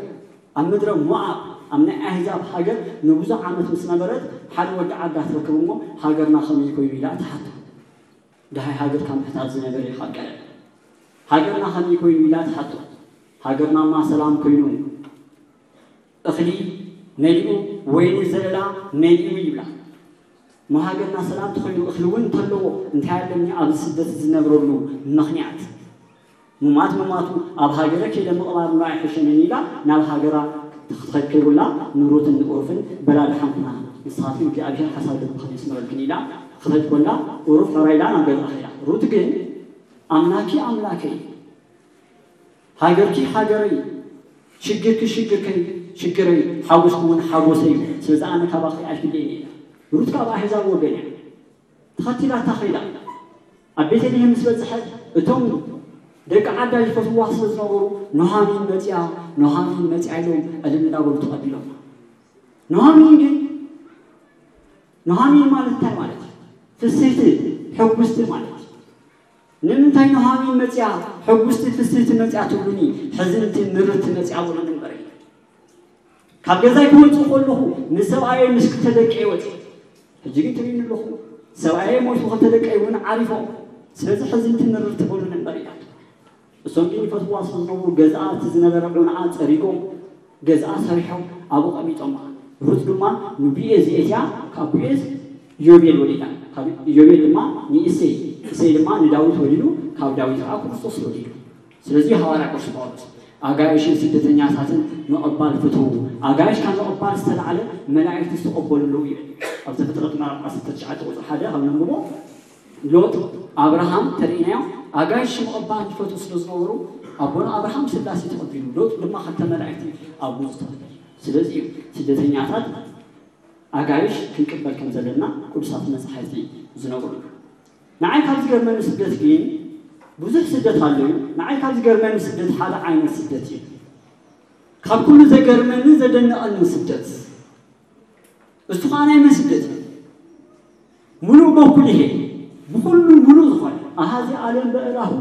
ኣብ ምድረ ሞኣብ ኣብ ናይ ኣህዛብ ሃገር ንብዙሕ ዓመት ምስ ነበረት ሓደ ወዲ ዓዳ ትረክብ እሞ ሃገርና ከመይ ኮይኑ ኢላ ትሓቶ። ደሃይ ሃገር ካብ ምሕታት ዝነበረ እዩ ካብ ቀደም። ሃገርና ከመይ ኮይኑ ኢላ ትሓቶ። ሃገርናማ ሰላም ኮይኑ እኽሊ መሊኡ ወይኒ ዘለላ መሊኡ ይብላ። እሞ ሃገርና ሰላም ተኾይኑ እኽሊ እውን እንተለዎ እንታይ ኣለኒ ኣብዚ ስደት ዝነብረሉ ምኽንያት? ምማት ምማቱ ኣብ ሃገረ ከይደ ምቕባር እምበር ኣይሕሸንን ኢላ ናብ ሃገራ ክትኸድ ከይብላ ንሩትን ንኡርፍን በላ ደሓን ኩና ንስኻትኩም እግዚኣብሔር ሓሳብ ልብኽን የስምረልክን ኢላ ክኸድ ኮላ ኡሩፍ ሕራይ ኢላ ናብ ገዝኣ ከይዳ። ሩት ግን ኣምላኪ ኣምላከይ ሃገርኪ ሃገረይ ሽግርኪ ሽግርከይ ሽግረይ ሓጎስኪ እውን ሓጎሰይ እዩ። ስለዚ ኣነ ካባኺ ኣይፍለይን እየ ኢላ። ሩት ካብ ኣህዛብ ወገን እያ። ተኸቲላታ ኸይዳ። ኣብ ቤተልሔም ምስ በጽሐት እቶም ደቂ ዓዳ ይፈትውዋ ስለ ዝነበሩ ኖሃሚን መጺኣ ኖሃሚን መጺኣ ኢሎም ዕልል እናበሉ ተቐቢሎም። ኖሃሚን ግን ኖሃሚን ማለት እንታይ ማለት እዩ? ፍስህቲ ሕጉስቲ ማለት እዩ። ንምንታይ ኖሃሚን መጺኣ ሕጉስቲ ፍስህቲ መጺኣ ትብሉኒ? ሕዝንቲ ምርርቲ መጺኣ ብሉኒ እምበር እዩ። ካብ ገዛይ ክወፅእ ከለኹ ምስ ሰብኣየይ ምስ ክልተ ደቀይ ወፂ ሕጂ ግን ትርእዩኒ ኣለኹ ሰብኣየይ ሞይቱ ክልተ ደቀይ እውን ዓሪፎም ስለዚ ሕዝንቲ ምርርቲ ብሉኒ እምበር ኢላቶ እሶም ግን ይፈትዋ ስለ ዝነበሩ ገዝኣ እቲ ዝነበረ ዑንዓ ፀሪጎም ገዝኣ ሰሪሖም ኣብኡ ቀሚጦማ ሩት ድማ ንቡኤዝ የእትያ ካብ ቡኤዝ ኢዮቤል ወሊዳ ካብ ኢዮቤል ድማ ንእሴይ እሴይ ድማ ንዳዊት ወሊዱ ካብ ዳዊት ከዓ ክርስቶስ ወሊዱ ስለዚ ሃዋርያ ቅዱስ ጳውሎስ ኣጋይሽን ስደተኛታትን ምቕባል ፍትዉ ኣጋይሽ ካብ ምቕባል ዝተላዕለ መላእክቲ ዝተቐበሉ ኣለዉ ይብል ኣብ ዘፍጥረት ምዕራፍ ዓሰርተ ትሽዓተ ቁፅሪ ሓደ ካብ ነንብቦ ሎጥ ኣብርሃም ተርእናዮ ኣጋይሽ ምቕባል ዝፈትዉ ስለ ዝነበሩ ኣቦና ኣብርሃም ስላሴ ተቐቢሉ፣ ሎጥ ድማ ክልተ መላእክቲ ኣብኡ ዝተቐበለ። ስለዚ እዩ ስደተኛታት ኣጋይሽ ክንቅበል ከም ዘለና ቅዱሳት መጻሕፍቲ ዝነግሩና። ንዓይ ካብ ዝገርመኒ ስደት ግን፣ ብዙሕ ስደት ኣሎ እዩ። ንዓይ ካብ ዝገርመኒ ስደት ሓደ ዓይነት ስደት እዩ። ካብ ኩሉ ዘገርመኒ ዘደንቐኒ ስደት፣ እሱ ከዓ ናይ መን ስደት እዩ? ሙሉእ በኩል ይሄ ብኩሉ ሙሉእ ዝኾነ ኣሃዚ ዓለም በእራሁ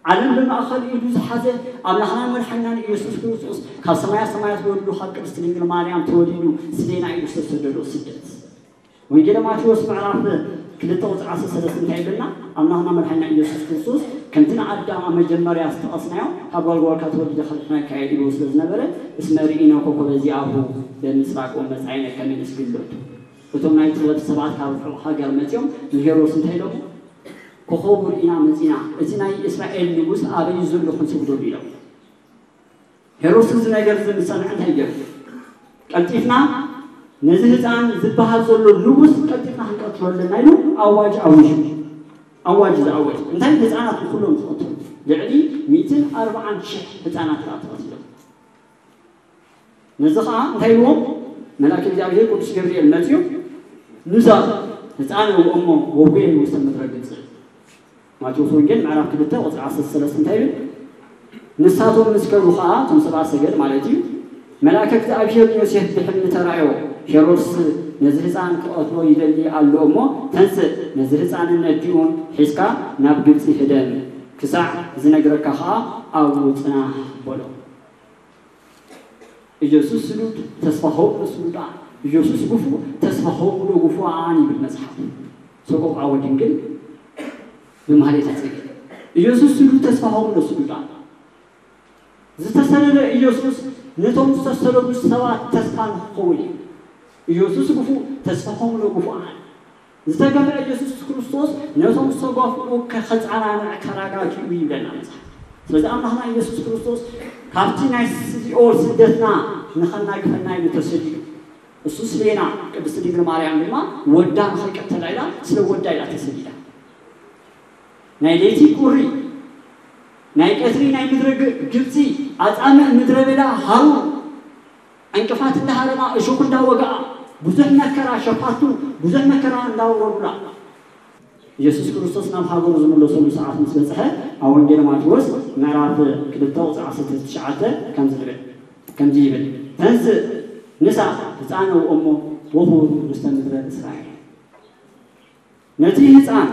ዓለም ብማእኸል ኢዱ ዝሓዘ ኣምላኽና መድሓኒናን ኢየሱስ ክርስቶስ ካብ ሰማያ ሰማያት ወሪዱ ካብ ቅድስት ድንግል ማርያም ተወሊዱ ስሌና ኢሉ ዝተሰደዶ ስደት። ወንጌል ማቴዎስ ምዕራፍ ክልተ ቁፅሪ ዓሰርተ ሰለስተ እንታይ ይብለና? ኣምላኽና መድሓኒና ኢየሱስ ክርስቶስ ከምቲ ንኣዳም ኣብ መጀመርያ ዝጠቐስናዮ ካብ ጓል ጓልካ ተወሊደ ከድሕነካ እየ ኢሉ ስለ ዝነበረ፣ እስመ ርኢነ ኮከበ ዚአሁ በምስራቅ ወመጻኢነ ከመ ንስግድ ሎቱ። እቶም ናይ ጥበብ ሰባት ካብ ርሑቕ ሃገር መጺኦም ንሄሮድስ እንታይ ኢሎሞ? ኮኸቡ ርኢና መጺና፣ እቲ ናይ እስራኤል ንጉስ ኣበይ ዘሎ ክንስግደሉ ኢሎም። ሄሮድስ እዚ ነገር እዚ ምስ ሰምዐ እንታይ ገይሩ? ቀልጢፍና ነዚ ህፃን ዝበሃል ዘሎ ንጉስ ቀልጢፍና ክንቀትሎ ኣለና ኢሉ ኣዋጅ ኣዊጁ። ኣዋጅ ዝኣወጅ እንታይ? ህፃናት ንኩሎም ዝቐትሉ ልዕሊ ሚእትን ኣርባዓን ሽሕ ህፃናት ከዓ ተቐቲሎም። ነዚ ከዓ እንታይ ኢልዎም? መልኣክ እግዚኣብሔር ቅዱስ ገብርኤል መፅኡ፣ ንዛ ህፃን እሞ ወጉየ ውስተ ምድረ ግብፅ። ማቴዎስ ወንጌል ምዕራፍ ክልተ ቁፅሪ ዓሰርተ ሰለስተ እንታይ ይብል? ንሳቶም ምስ ከዱ ከዓ እቶም ሰብኣ ሰገል ማለት እዩ፣ መልኣከ እግዚኣብሔር ንዮሴፍ ብሕልሚ ተራእዮ፣ ሄሮድስ ነዚ ህፃን ክቐትሎ ይደሊ ኣሎ እሞ ተንስእ፣ ነዚ ህፃንን ነዲኡን ሒዝካ ናብ ግብፂ ህደም፣ ክሳዕ ዝነግረካ ከዓ ኣብኡ ፅናሕ በሎ። ኢየሱስ ስሉጥ ተስፋሆሙ ለስሉጣን፣ ኢየሱስ ግፉእ ተስፋሆሙ ለግፉዓን ይብል መጽሓፍ። ሰቆቃወ ድንግል ብማህሌተ ጽጌ። ኢየሱስ ስሉጥ ተስፋሆሙ ለስሉጣን። ዝተሰደደ ኢየሱስ ነቶም ዝተሰደዱ ሰባት ተስፋ ንክኸውን እዩ። ኢየሱስ ግፉእ ተስፋሆሙ ለግፉዓን። ዝተገፍዐ ኢየሱስ ክርስቶስ ነቶም ዝተገፍዑ ከ-፣ ከጸናንዕ ከረጋግኡ ይብለና መጽሓፍ። ስለዚ ኣምላኽና ኢየሱስ ክርስቶስ ካብቲ ናይ ሲኦል ስደትና ንኸናግፈና ኢሉ ተሰዲዱ። እሱ ስሌና፣ ቅድስት ድንግል ማርያም ድማ ወዳ ንኸይቀተላ ኢላ፣ ስለ ወዳ ኢላ ተሰዲዳ። ናይ ለይቲ ቁሪ፣ ናይ ቀትሪ ናይ ምድረ ግ-፣ ግብጺ፣ ኣጻምእ ምድረ በዳ ሃሩር፣ ዕንቅፋት እንዳሃረማ፣ እሾኽ እንዳወግኣ፣ ብዙሕ መከራ ሸፋቱ፣ ብዙሕ መከራ እንዳወረዱላ፣ ኢየሱስ ክርስቶስ ናብ ሃገሩ ዝምለሰሉ ሰዓት ምስ በጽሐ፣ ኣብ ወንጌል ማቴዎስ ምዕራፍ ክልተ ቁጽሪ ዓሰርተ ትሽዓተ ከምዚ ዝብል፣ ከምዚ ይብል፣ ተንስእ ንሳ ህፃነ ወእሞ ወኹሩ ውስተ ምድረ እስራኤል። ነቲ ህፃን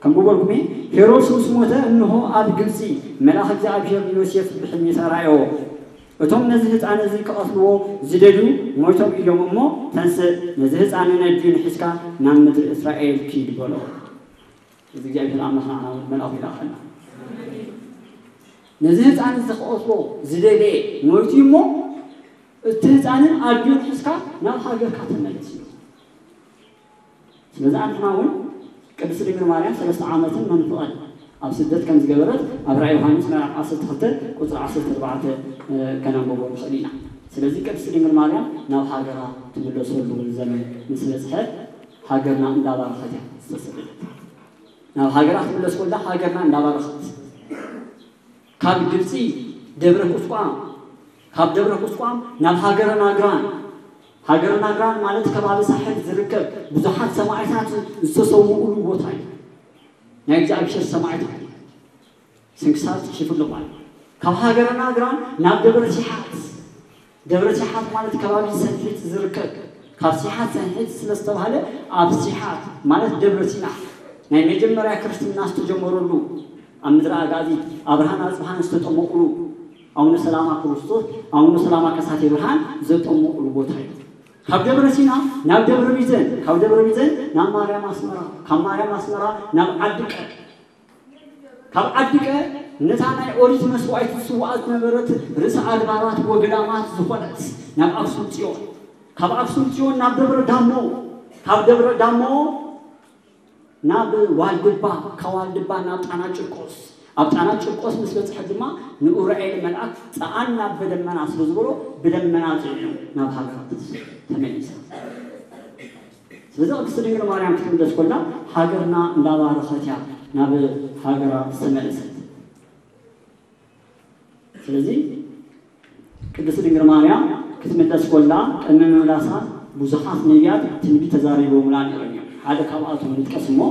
ከም በበልኩሜ ሄሮድስ ምስ ሞተ፣ እንሆ ኣብ ግብፂ መልኣኽ እግዚኣብሔር ንዮሴፍ ብሕልሚ ተራእዮ። እቶም ነዚ ህፃን እዚ ክቐትልዎ ዝደልዩ ሞይቶም እዮም እሞ፣ ተንስእ፣ ነዚ ህፃን ነዲኡን ሒዝካ ናብ ምድሪ እስራኤል ኪድ በሎ። እዚ እግዚኣብሔር ኣምላኽ ንዓና እውን መልኣኹ ይልኣኸልና። ነዚ ህፃን እዚ ክቐትሎ ዝደለየ ሞይቱ እሞ፣ እቲ ህፃንን ኣዲኡን ሒዝካ ናብ ሃገርካ ተመለስ እዩ። ስለዚ ኣንሕና እውን ቅድስት ድንግል ማርያም ሰለስተ ዓመትን መንፍቐን ኣብ ስደት ከም ዝገበረት ኣብ ራእይ ዮሃንስ ምዕራፍ ዓሰርተ ክልተ ቁፅሪ ዓሰርተ ኣርባዕተ ከነንብቦ ንኽእል ኢና። ስለዚ ቅድስት ድንግል ማርያም ናብ ሃገራ ትምለሰሉ ዘመን ምስ በፅሐ ሃገርና እንዳባረኸት እያ ዝተሰደደት። ናብ ሃገራ ክትምለስ ከላ ሃገርና እንዳባረኸት፣ ካብ ግብፂ ደብረ ቁስቋም፣ ካብ ደብረ ቁስቋም ናብ ሃገረ ናግራን። ሃገረ ናግራን ማለት ከባቢ ሳሕል ዝርከብ ብዙሓት ሰማዕታት ዝተሰውኡሉ ቦታ እዩ። ናይ እግዚኣብሔር ሰማዕታት ስንክሳር ጽሒፉ ኣሎ ማለት እዩ። ካብ ሃገረ ናግራን ናብ ደብረ ሲሓት፣ ደብረ ሲሓት ማለት ከባቢ ሰንሒት ዝርከብ፣ ካብ ሲሓት ሰንሒት ስለ ዝተባህለ ኣብ ሲሓት ማለት ደብረ ሲና ናይ መጀመርያ ክርስትና ዝተጀመረሉ፣ ኣብ ምድረ ኣጋዚ ኣብርሃን ኣጽብሃን ዝተጠመቑሉ፣ ኣቡነ ሰላማ ክርስቶስ፣ ኣቡነ ሰላማ ከሳቴ ብርሃን ዘጠመቑሉ ቦታ እዩ። ካብ ደብረ ሲና ናብ ደብረ ቢዘን፣ ካብ ደብረ ቢዘን ናብ ማርያም ኣስመራ፣ ካብ ማርያም ኣስመራ ናብ ዓዲ ቀ-፣ ካብ ዓዲ ቀ-፣ ነታ ናይ ኦሪት መስዋዕቲ ዝስዋኣ ዝነበረት ርእሰ ኣድባራት ወገዳማት ዝኾነት ናብ ኣክሱም ጽዮን፣ ካብ ኣክሱም ጽዮን ናብ ደብረ ዳሞ፣ ካብ ደብረ ዳሞ ናብ ዋልድባ፣ ካብ ዋልድባ ናብ ጣና ጭርቆስ፣ ኣብ ጣና ጭርቆስ ምስ በጽሐ ድማ ንኡራኤል መልኣክ ጸኣና ብደመና ስለ ዝበሎ ብደመና ጽዒኑ ናብ ሃገራ ተመሊሳ። ስለዚ ቅድስት ድንግል ማርያም ክትምለስ ከላ ሃገርና እንዳባረኸት እያ ናብ ሃገራ ዝተመለሰት። ስለዚ ቅድስቲ ድንግል ማርያም ክትምለስ ኮላ ቅድሚ ምምላሳ ብዙሓት ነቢያት ትንቢት ተዛሪቦምላ ነይሮም እዮም። ሓደ ካብኣቶም ንጥቀስ እሞ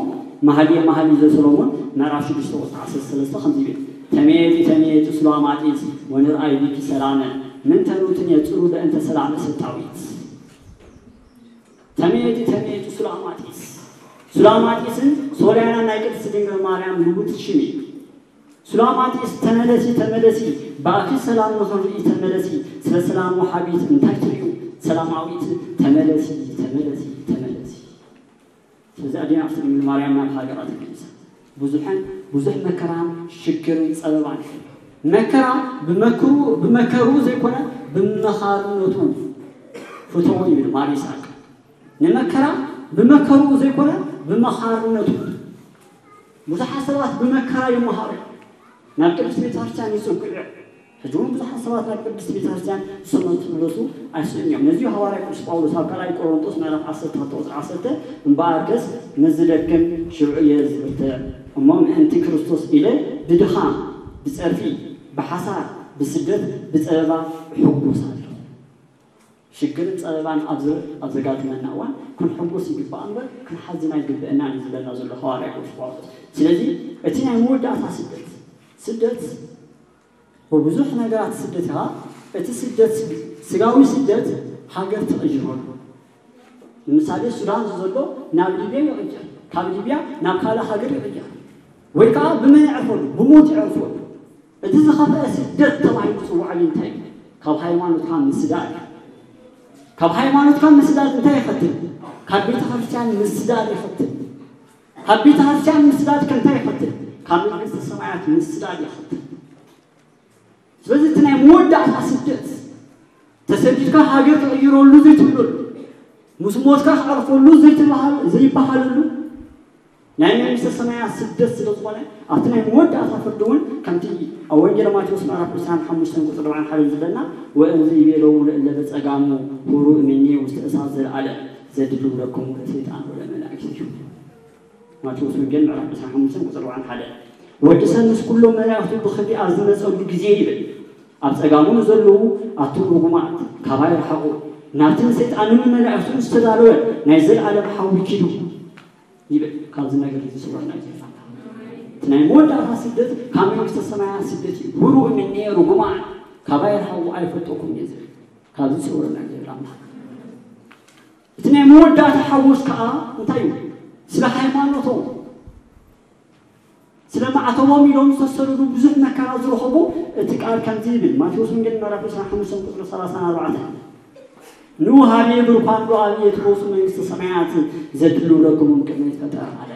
መኃልየ መኃልይ ዘሰሎሞን ምዕራፍ ሽዱሽተ ቁጽሪ ዓሰርተ ሰለስተ ከምዚ ይብል፣ ተሜቲ ተሜቲ ሱላማጢስ ወንርኣይ ቢኪ ሰላመ ምንተኑትን የጽሩ በእንተ ሰላመ ሰጣዊት። ተሜቲ ተሜቲ ሱላማጢስ። ሱላማጢስን ሶልያናን ናይ ቅድስቲ ድንግል ማርያም ልውጥ ሽም እዩ። ሱላማጢስ ተመለሲ ተመለሲ፣ ብኣኪ ሰላም ንኽንርኢ ተመለሲ፣ ስለ ሰላም ወሃቢት እንታይ ትርእዩ ሰላማዊት፣ ተመለሲ ተመለሲ ተመለሲ። ስለዚ ኣዴና ቅድስቲ ድንግል ማርያም ናብ ሃገራ ተመሊሳ ብዙሕን ብዙሕ መከራን ሽግርን ጸበባን። መከራ ብመከሩ ብመከሩ ዘይኮነ ብመኻርነቱ ፍትሑ ይብል ማር ይስሐቅ። ንመከራ ብመከሩ ዘይኮነ ብመኻርነቱ። ብዙሓት ሰባት ብመከራ ይመሃሩ፣ ናብ ቅድስት ቤተክርስትያን ይጽግዑ እዮም። ሕጂ እውን ብዙሓት ሰባት ናብ ቅድስት ቤተክርስትያን ዝሰመቱ ክምለሱ ኣይስእን እዮም። ነዚ ሃዋርያ ቅዱስ ጳውሎስ ኣብ ካልኣይ ቆሮንጦስ ምዕራፍ ዓሰርተ ክልተ ቁጽሪ ዓሰርተ፣ እምበኣርከስ ምስ ዝደክም ሽዑ እየ ዝብርትዕ፣ እሞ ምእንቲ ክርስቶስ ኢለ ብድኻም፣ ብጸርፊ፣ ብሓሳር፣ ብስደት፣ ብጸበባ እሕጎስ ኣለኹ። ሽግርን ጸበባን ኣብ ዘ-፣ ኣብ ዘጋጥመና እዋን ክንሕጎስ ይግባእ እምበር ክንሓዝን ኣይግብአናን እዩ ዝብለና ዘሎ ሃዋርያ ቅዱስ ጳውሎስ። ስለዚ እቲ ናይ መወዳእታ ስደት፣ ስደት ብብዙሕ ነገራት ስደት ኢኻ። እቲ ስደት ስጋዊ ስደት ሃገር ትቕይረሉ። ንምሳሌ ሱዳን ዘሎ ናብ ሊብያ ይቕየር፣ ካብ ሊብያ ናብ ካልእ ሃገር ይቕየር፣ ወይ ከዓ ብመን ይዕርፈሉ? ብሞት ይዕርፈሉ። እቲ ዝኸፍአ ስደት ተባሂሉ ዝጽዋዕ ግን እንታይ እዩ? ካብ ሃይማኖትካ ምስዳድ እዩ። ካብ ሃይማኖትካ ምስዳድ እንታይ ይኸትል? ካብ ቤተ ክርስቲያን ምስዳድ ይኸትል። ካብ ቤተ ክርስቲያን ምስዳድ ከ እንታይ ይኸትል? ካብ መንግስተ ሰማያት ምስዳድ ይኸትል። ስለዚ እቲ ናይ መወዳእታ ስደት ተሰዲድካ ሃገር ትቕይረሉ ዘይትብለሉ፣ ምስ ሞትካ ክዓርፈሉ ዘይትበሃል-፣ ዘይበሃለሉ ናይ መንግስተ ሰማያት ስደት ስለ ዝኾነ ኣብቲ ናይ መወዳእታ ፍርዲ እውን ከምቲ ኣብ ወንጌል ማቴዎስ ምዕራፍ ዕስራን ሓሙሽተን ቁጽሪ ኣርባዓን ሓደን ዝብለና፣ ወእምዝ ይቤሎሙ ለእለ በጸጋሙ ሁሩ እምኔ ውስተ እሳት ዘለዓለም ዘድልው ለክሙ ለሰይጣን ወለመላእክቲሁ። ማቴዎስ ወንጌል ምዕራፍ ዕስራን ሓሙሽተን ቁጽሪ ኣርባዓን ሓደን፣ ወዲ ሰብ ምስ ኩሎም መላእኽቱ ብኽብሪ ኣብ ዝመጸሉ ግዜ ይብል፣ ኣብ ጸጋሙ ንዘለዉ ኣቱም ርጉማት ካባይ ርሓቑ፣ ናብቲ ንሰይጣንን ንመላእኽቱን ዝተዳለወ ናይ ዘለዓለም ሓዊ ኪዱ ይብል። ካብዚ ነገር እዚ ስውረና እዩ። እቲ ናይ መወዳእታ ስደት ካብ መንግስተ ሰማያት ስደት እዩ። ሁሩ እምኔ ርጉማን ካባይ ርሓቑ ኣይፈልጠኩም እየ ዝብል። ካብዚ ስውረና እዩ ዝብል ኣምላኽ። እቲ ናይ መወዳእታ ሓጎስ ከዓ እንታይ እዩ? ስለ ሃይማኖቶም፣ ስለ ማዕተቦም ኢሎም ዝተሰደዱ ብዙሕ መከራ ዝረኸቡ እቲ ቃል ከምዚ ይብል። ማቴዎስ ወንጌል ምዕራፍ ዕስራን ሓሙሽተን ቁጽሪ ሰላሳን ኣርባዕተን፣ ኑ ሀቤ ብሩካን ሉዓል የትወሱ መንግስተ ሰማያት ዘድልው ለክሙ ቅድመ ይትፈጠር ኣለ።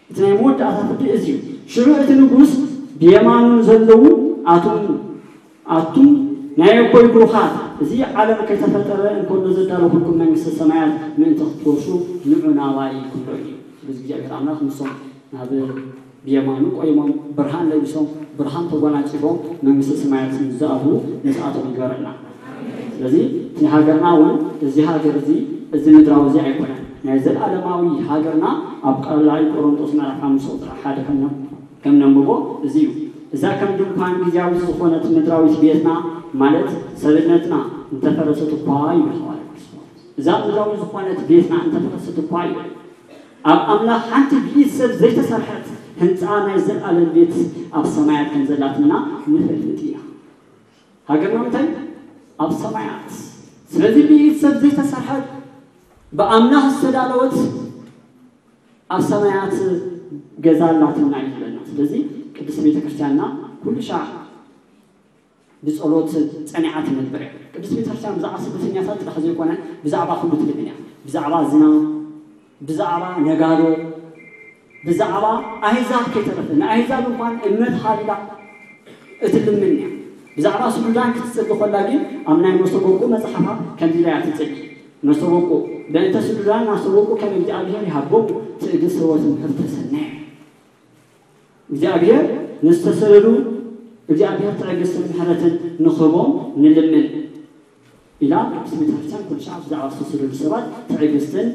እቲ ናይ መወዳእታ ፍርዲ እዚ እዩ። ሽዑ እቲ ንጉስ ብየማኑ ዘለዉ ኣቱም ኣቱም ናይ ኣቦይ ብሩኻት፣ እዚ ዓለም ከይተፈጠረ እንከሎ ዘዳለኹልኩም መንግስተ ሰማያት ምእንቲ ክትወርሱ ንዑ ናባይ ክብሎ እዩ። ስለዚ እግዚኣብሔር ኣምላኽ ንሶም ናብ ብየማኑ ቆይሞም ብርሃን ለቢሶም ብርሃን ተጎናጺፎም መንግስተ ሰማያት ምስ ዝኣትዉ ምስኣቶም ይግበረና። ስለዚ እቲ ሃገርና እውን እዚ ሃገር እዚ እዚ ምድራዊ እዚ ኣይኮነን። ናይ ዘለኣለማዊ ሃገርና ኣብ ካልኣይ ቆሮንጦስ ምዕራፍ ሓሙሽተ ቁጽሪ ሓደ ከም ከም ነንብቦ እዚ እዩ። እዛ ከም ድንኳን ግዜያዊት ዝኾነት ምድራዊት ቤትና ማለት ሰብነትና እንተፈረሰት እኳ ይብል ሃዋርያ ቅዱስ ጳውሎስ። እዛ ምድራዊት ዝኾነት ቤትና እንተፈረሰት እኳ ይብል ኣብ ኣምላኽ ሓንቲ ብኢድ ሰብ ዘይተሰርሐት ህንፃ ናይ ዘለኣለም ቤት ኣብ ሰማያት ከም ዘላትና ንፈልጥ ኢና። ሃገርና እንታይ? ኣብ ሰማያት። ስለዚ ብኢድ ሰብ ዘይተሰርሐት ብኣምላኽ ዝተዳለወት ኣብ ሰማያት ገዛ ኣላትና እዩ ዝብለና። ስለዚ ቅድስት ቤተ ክርስቲያንና ኩሉ ሻዕ ብጸሎት ጸኒዓ ትነብር እያ። ቅድስት ቤተ ክርስቲያን ብዛዕባ ስደተኛታት ጥራሕ ዘይኮነ ብዛዕባ ኩሉ ትልምን እያ። ብዛዕባ ዝናም፣ ብዛዕባ ነጋዶ፣ ብዛዕባ ኣህዛብ ከይተረፈ ንኣህዛብ እንኳን እምነት ሃቢላ እትልምን እያ። ብዛዕባ ሱዳን ክትጽሊ ከላ ግን ኣብ ናይ መስተጎጎ መጽሓፋ ከምዚ ኢላ እያ ትጽሊ። መስተጎጎ በእንተ ሱዳን ናስተጎጎ ከም እግዚኣብሔር ይሃቦም ትዕግስቲ ወትምህርተ ሰናየ። እግዚኣብሔር ንዝተሰደዱ እግዚኣብሔር ትዕግስትን ምሕረትን ንኽህቦም ንልምን ኢላ ቅድስት ቤተክርስትያን ኩሉ ሻዕ ብዛዕባ ዝተሰደዱ ሰባት ትዕግስትን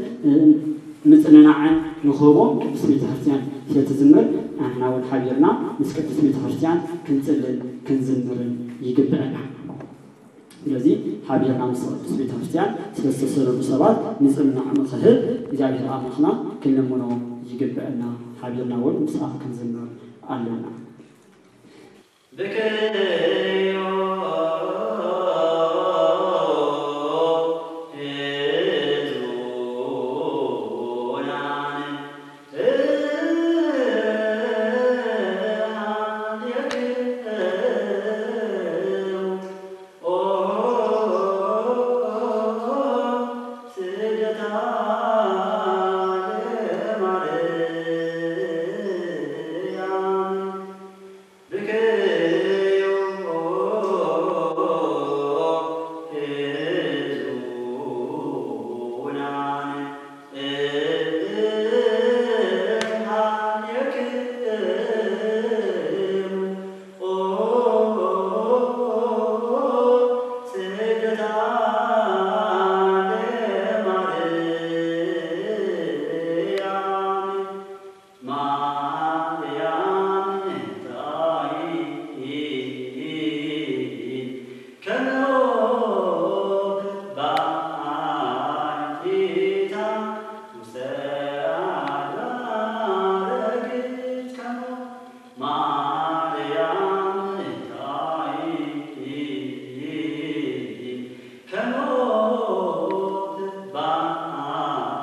ምጽንናዕን ንኽህቦም ቅድስት ቤተ ክርስቲያን ስለትዝምር፣ ንሕና እውን ሓቢርና ምስ ቅድስት ቤተ ክርስቲያን ክንጽልን ክንዝምርን ይግብአና። ስለዚ ሓቢርና ምስ ቅድስት ቤተ ክርስቲያን ስለ ዝተሰደዱ ሰባት ምጽንናዕ ንኽህብ እግዚኣብሔር ኣምላኽና ክንልምኖ ይግብአና። ሓቢርና እውን ምስኣ ክንዝምር ኣለና። ብክዮ ህዙናን እሃልየክሙ ኦ ስደታ ለማርያም ብክዮ ህዙናን እሃልየክሙ ኦ ስደታ ለማርያም ማርያም እንታይ ከመ ኦፍ ባሕቲታ ውስተ ኣድባር ግዝከሞ ማርያም እንታይ ከመ ኦፍ ባሕቲታ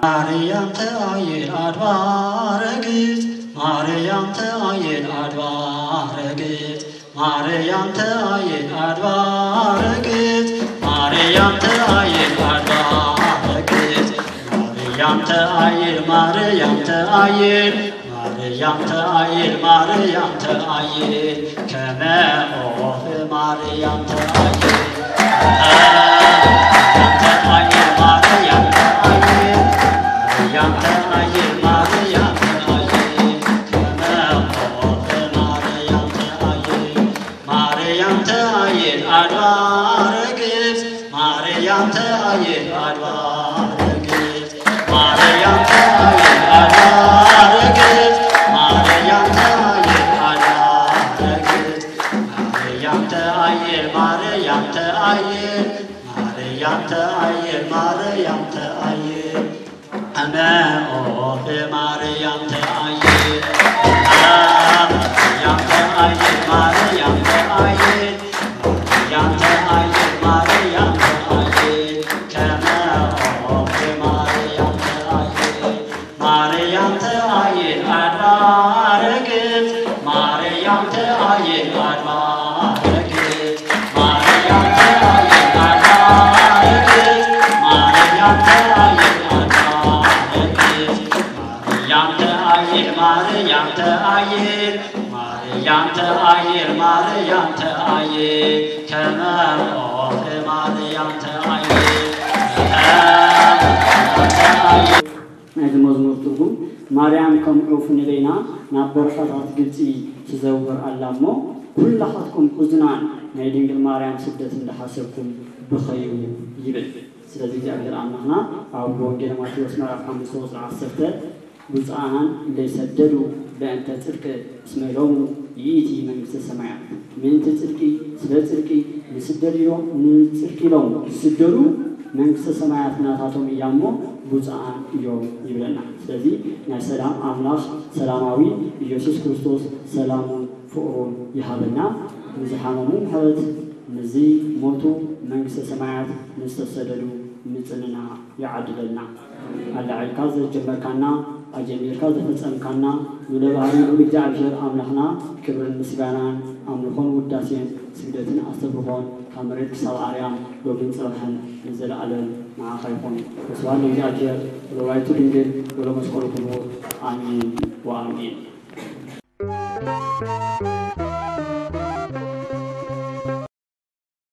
ማርያም ተአይል አድባረ ግእዝ፣ ማርያም ተአይል አድባረ ግእዝ፣ ማርያም ተአይል አድባረ ግእዝ፣ ማርያም ተአይል አድባረ ግእዝ፣ ማርያም ተአይል፣ ማርያም ተአይል ማርያም ተአይል፣ ማርያም ተአይል፣ ከመ ኦፍ ማርያም ተአይል። ማርያም ተአይል፣ ማርያም ተአይል፣ ማርያም ተአይል፣ ማርያም ተአይል፣ ከመ ኦፍ ማርያም ተአይል። ማርያም ተአይል አድባረ ግእዝ፣ ማርያም ተአይል አድባረ ግእዝ፣ ማርያም ተአይል አድባረ ግእዝ፣ ማርያም ተአይል አድባረ ግእዝ፣ ማርያም ተአይል፣ ማርያም ተአይል፣ ማርያም ተአይል፣ ማርያም ተአይል። ከመ ኦፍ ማርያም ተአይል፣ ማርያም ተአይል፣ ማርያም ተአይል፣ ማርያም ተአይል፣ ማርያም ተአይል፣ ከመ ኦፍ ማርያም ተአይል። ማርያም ተአይል አድባረ ግእዝ፣ ማርያም ተአይል አድባረ ግእዝ፣ ማርያም ተአይል አድባረ ግእዝ፣ ማርያም ተአይል አድባረ ግእዝ፣ ማርያም ተአይል፣ ማርያም ተአይል፣ ማርያም ተአይል፣ ማርያም ተአይል፣ ከመ ኦፍ ማርያም ተአይል፣ ማርያም ተአይል። ናይዚ መዝሙር ትርጉም፣ ማርያም ከም ዑፍ ንበይና ናብ በረኻታት ግብጺ ትዘውር ኣላ እሞ፣ ኩላኻትኩም ሕዙናን ናይ ድንግል ማርያም ስደት እንዳሓሰብኩም ብኸዩ ይብል። ስለዚ እግዚኣብሔር ኣምላኽና ኣብ ወንጌል ማቴዎስ ምዕራፍ ሓሙሽተ ቁጽሪ ዓሰርተ፣ ብፁዓን ለይሰደዱ በእንተ ጽድቅ እስመ ሎሙ ይእቲ መንግስተ ሰማያት። ምእንቲ ጽድቂ፣ ስለ ጽድቂ ንስደድ ኢሎም፣ ንጽድቂ ኢሎም ዝስደዱ መንግስተ ሰማያት ናታቶም እያ እሞ ብፁዓን እዮም ይብለና። ስለዚ ናይ ሰላም ኣምላኽ ሰላማዊ ኢየሱስ ክርስቶስ ሰላሙን ፍቕሩን ይሃበና። ንዝሓመሙ ምሕረት፣ ንዝሞቱ መንግስተ ሰማያት፣ ንዝተሰደዱ ምጽንና ይዓድለልና። ኣላዒልካ ዘጀመርካና፣ ኣጀሚርካ ዘፈጸምካና፣ ልዑለ ባህሪ ልዑል እግዚኣብሔር ኣምላኽና ክብርን ምስጋናን ኣምልኾን ውዳሴን ስግደትን ኣስተብርኾን ካብ መሬት ክሳብ ኣርያም ሎምን ጽባሕን ንዘለኣለም ንዓኻ ይኹን። ወስብሐት ለእግዚኣብሔር ወለወላዲቱ ድንግል ወለመስቀሉ ክቡር። ኣሜን ወኣሜን።